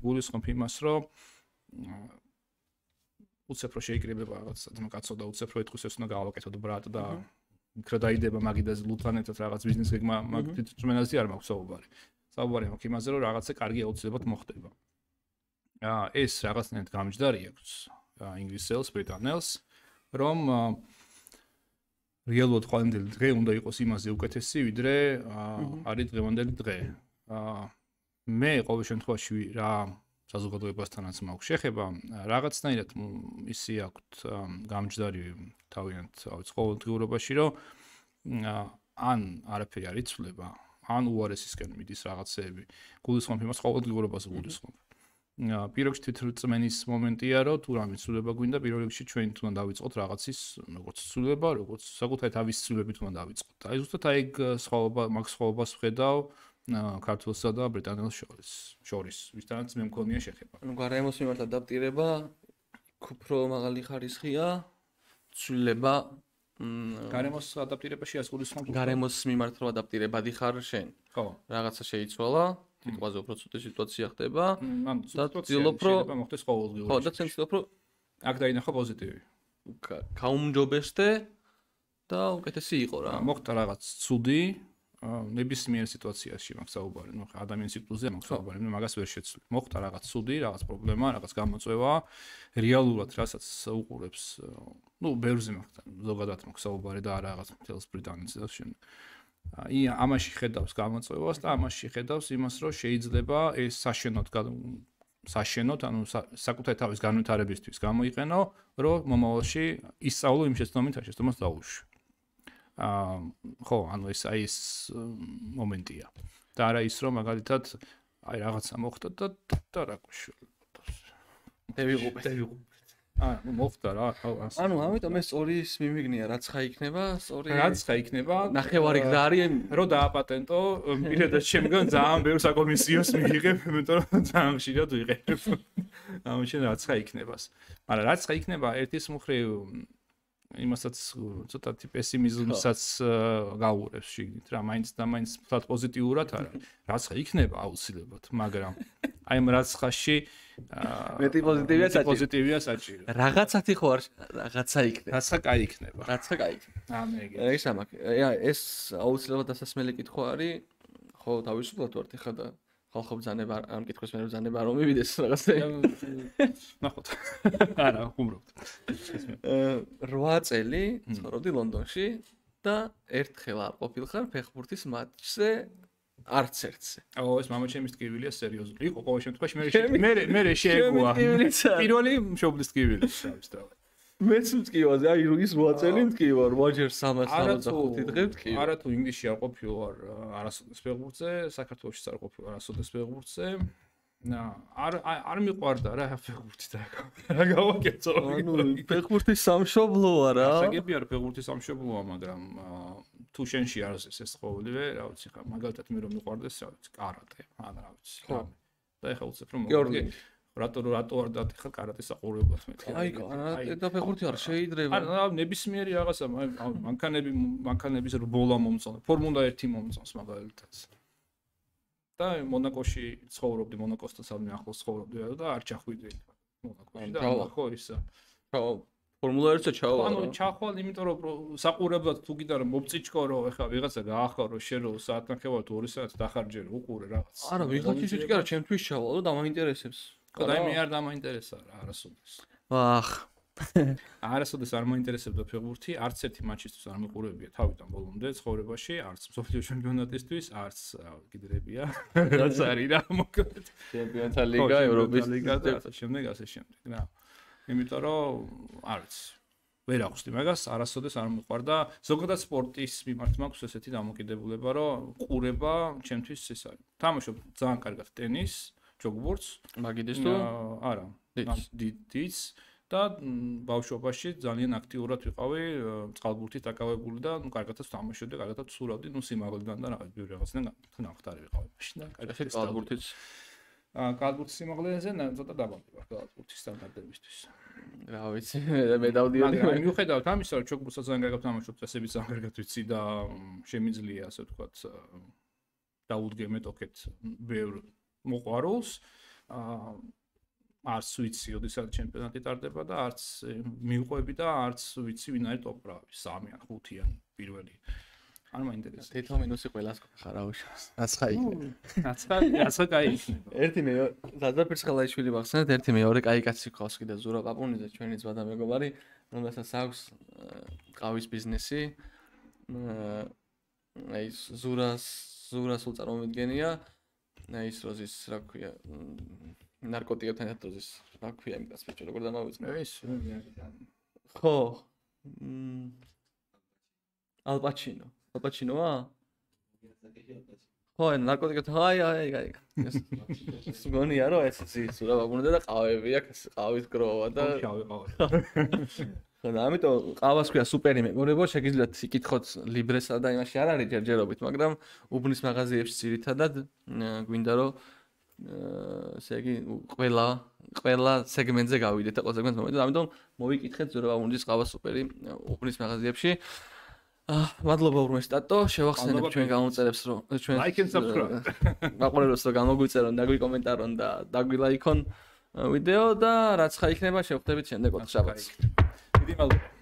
გულისხმობ იმას რომ უცებრო შეიკრიბება რაღაც კაცო და უცებრო ეთქვის ეს უნდა გავაკეთოთ ბრატ და იქ რა დაიდება მაგიდაზე ლუთანეთად რაღაც ბიზნეს გეგმა მაგ თვითრწმენაზე არ მაქვს საუბარი. საუბარი მაქვს იმაზე, რომ რაღაცა კარგი აუცილებლად მოხდება. ეს რაღაცნაირად გამჯდარი აქვს ინგლისელს, ბრიტანელს, რომ რეალურად ყოველდღე დღე უნდა იყოს იმაზე უკეთესი, ვიდრე არის დღევანდელი დღე. მე ყოველ შემთხვევაში რა საზოგადოებასთანაც მაქვს შეხება, რაღაცნაირად ისი აქვთ გამჯდარი თავიანთ ყოველდღიურობაში, რომ ან არაფერი არ იცვლება, ან უარესისკენ მიდის რაღაცეები. გულისხმობ იმას ყოველდღიურობას გულისხმობ. პირველში თვითრწმენის მომენტია, რომ თუ რამე ცვლილება გვინდა, პირველ რიგში ჩვენ თუნდა დავიწყოთ რაღაცის, როგორც ცვლილება, როგორც საკუთარი თავის ცვლილებით უნდა დავიწყოთ. აი ზუსტად აი მაგ სხვაობას ვხედავ ქართველსა და ბრიტანელს შორის, ვისთანაც მე მქონია შეხება. ანუ გარემოს მიმართ ადაპტირება უფრო მაღალი ხარისხია, ცვლილება გარემოს ადაპტირებაში ასგულისხმობ. გარემოს მიმართ რო ადაპტირებადი ხარ შენ. ხო. რაღაცა შეიცვალა, თითქოს უფრო ცუდი სიტუაცია ხდება და ცდილობ რომ მოხდეს ყოველდღიურად. ხო, და ცდილობ რომ აქ დაინახო პოზიტივი. გაუმჯობესდე და უკეთესი იყო რა. მოხდა რაღაც ცუდი ნებისმიერ სიტუაციაში მაქვს საუბარი, ნუ ადამიანის ციკლზე მაქვს საუბარი, მე მაგას ვერ შეცვლი. მოხდა რაღაც ცუდი, რაღაც პრობლემა, რაღაც გამოწვევა, რეალურად რასაც უყურებს, ნუ ბევრზე მაქვს ზოგადად მაქვს საუბარი და არა რაღაც მთელს ბრიტანეთს და შემდეგ. ამაში ხედავს გამოწვევას და ამაში ხედავს იმას, რომ შეიძლება ეს საშენოდ, ანუ საკუთარი თავის განვითარებისთვის გამოიყენო, რომ მომავალში ისწავლო იმ შეცდომით, შეცდომას დაუშვი. ხო, ანუ ეს მომენტია. და არა ის, რომ მაგალითად აი რაღაცა მოხდა და რა გვიშველა. დევიღუპეთ. მოხდა რა. ანუ ამიტომ ეს სწორი მიმიგნია, რაც ხა იქნება, იქნება. ნახევარი გზა არის, რომ დააპატენტო, პირადად შემდგომ ძალიან ბევრ საკომისიოს მიიღებ, იმიტომ რომ ძალიან ხშირად ვიყენებ. ამაშენ რაც ხა იქნებას. მაგრამ რაც ხა იქნება, ერთის მხრივ იმასაც ცოტათი პესიმიზმსაც გაუურებს შიგნით რა, მაინც და მაინც ფლად პოზიტიურად არა. რაც ხა იქნება აუცილებლად, მაგრამ აი ამ რაც ხაში მეტი პოზიტივია საჭირო. რაღაცათი ხო არ რაღაცა იქნება. რაცა კაი იქნება. რაცა კაი იქნება. ეს ამაკ. ეს აუცილებლად დასასმელი კითხვა არის. ხო, თავისუფლად ვართ ხა და ხალხო ბრძანება ამ კითხვის მე ბრძანება არ მომივიდეს რაღაცა. ნახოთ. არა, ხუმრობთ. 8 წელი ცხოვრობდი ლონდონში და ერთხელ არ ყოფილხარ ფეხბურთის მატჩზე არც ერთზე. ეს მამაჩემის ტკივილია სერიოზული. იყო ყოველ შემთხვევაში მე შეეგუა. პირველი მშობლის ტკივილი თავისთავად. მეც მტკივაზე, აი ის 8 წელი მტკივა, 8 ჯერ 365 დღე მტკივა. არა თუ ინგლისში არ ყოფილვარ არასოდეს ფეხბურთზე, საქართველოშიც არ ყოფილვარ არასოდეს ფეხბურთზე. არ მიყვარდა რა ფეხბურთი და რა გავაკეთო. ანუ ფეხბურთის სამშობლოა რა. ასაგებია რა ფეხბურთის სამშობლოა, მაგრამ თუ შენში არის ეს ყოველივე, რა ვიცი, ხა მაგალითად მე რომ მიყვარდეს, რა ვიცი, კარატე, ან რა ვიცი. და ეხლა უცებ რომ მოგიგე რატო არ დათი ხა კარატეს საყურებლად მე. აი, კარატე და ფეხბურთი არ შეიძლება. ან ნებისმიერი რაღაცა, მანქანების რბოლა მომწონს, ფორმულა 1 მომწონს მაგალითად. და მონაკოში ცხოვრობდი, მონაკოსთან სადმე ახლოს ცხოვრობდი და არ ჩახვიდე მონაკოში და ხო ისა. ფორმულა 1-ზე ჩავა. ანუ ჩახვალ, იმიტომ რომ საყურებლად თუ გინდა რომ მოპწიჩკო რომ ეხლა ვიღაცა გაახარო შენ რომ საათნახევარ თუ 2 საათს დახარჯე რომ უყურე რაღაც. არა, ვიღაცის კი არა, ჩემთვის ჩავა და დამაინტერესებს. და მე არ დამაინტერესა რა, არასოდეს. ვახ. არასოდეს არ მაინტერესებდა ფეხბურთი, არც ერთი მატჩისთვის არ მიყურებია თავიდან ბოლომდე ცხოვრებაში, არც მსოფლიო ჩემპიონატისთვის, არც კიდრებია. რაც არის რა მოკლედ. ჩემპიონთა ლიგა, ევროპის ლიგა და ასე შემდეგ, რა. იმიტომ რომ არც ვერ აღვსდი მაგას, არასოდეს არ მიყვარდა. ზოგადად სპორტის მიმართ მაქვს ესეთი დამოკიდებულება, რომ ყურება ჩემთვის ეს არის. თამაშობ ძალიან კარგად ტენის, ჯოგბურთს, მაგიდეს თუ არა, დიდიც და ბავშვობაში ძალიან აქტიურად ვიყავი, წყალბურთით დაკავებული და კარგადაც თამაშობდი, კარგადაც ვსურავდი, სიმაღლიდან და რაღაცნაირად ნახტარი ვიყავი მაშინ და კარგად წყალბურთიც კალბურთის სიმაღლეზე ცოტა დაბალი ვარ კალბურთის სტანდარტებისთვის. რა ვიცი, მე დავდიოდი. მაგრამ მიუხედავად ამისა, რომ ჩოგბურთსაც ძალიან კარგად ვთამაშობ, წესებიც ძალიან კარგად ვიცი და შემიძლია, ასე ვთქვათ, დაუდგე მეტოქეთ ბევრ მოყვარულს. არც ვიცი, ოდესაც ჩემპიონატი ტარდება და არც მივყვები და არც ვიცი, ვინ არის ტოპ-რავი, 3 ან 5 ან პირველი. არ მაინტერესებს. თითო მინუსი ყველას ხარ აუშავს. აცხა იქნება. აცხა კაი იქნება. ერთი მე ზაზარ ფირცხალაიშვილი ვახსენეთ, ერთი მეორე კაი კაცი ყავს კიდე ზურა პაპუნიძე, ჩვენი ძმა და მეგობარი, რომელსაც აქვს ყავის ბიზნესი. აი ზურას სულ წარმომიდგენია. აი ის როზის, რა ქვია, ნარკოტიკებთან ერთად როზის, რა ქვია იმ კაცს ბიჭო, როგორ დამავიწყე? ეს ხო. ალპაჩინო. ალპაჩინოა? ხო, ნარკოტიკებთან, აი. ეს გონია რომ ეს ზურა პაპუნიძე და ყავები აქვს, ყავის გროვა და შავი ყავა. ხო და ამიტომ ყავას ქვია სუპერი მეგობრებო, შეგიძლიათ იკითხოთ ლიბრესა და იმაში არ არის ჯერჯერობით, მაგრამ უბნის მაღაზიებში ძირითადად გვინდა რომ ესე იგი ყველა სეგმენტზე გავიდეთ და ყველა სეგმენტს მომედეთ, ამიტომ მოვიკითხეთ ზურა პაპუნიძის ყავა სუპერი უბნის მაღაზიებში. მადლობა ურმესტატო, შევახსენებ ჩვენ გამოწერებს რომ ჩვენ like and subscribe. მაყურებელს რომ გამოგვიწერონ, დაგვიკომენტარონ და დაგვილაიქონ ვიდეო და რაც ხა იქნება შევხვდებით შემდეგ ოთხ შაბათს. დიდი მადლობა.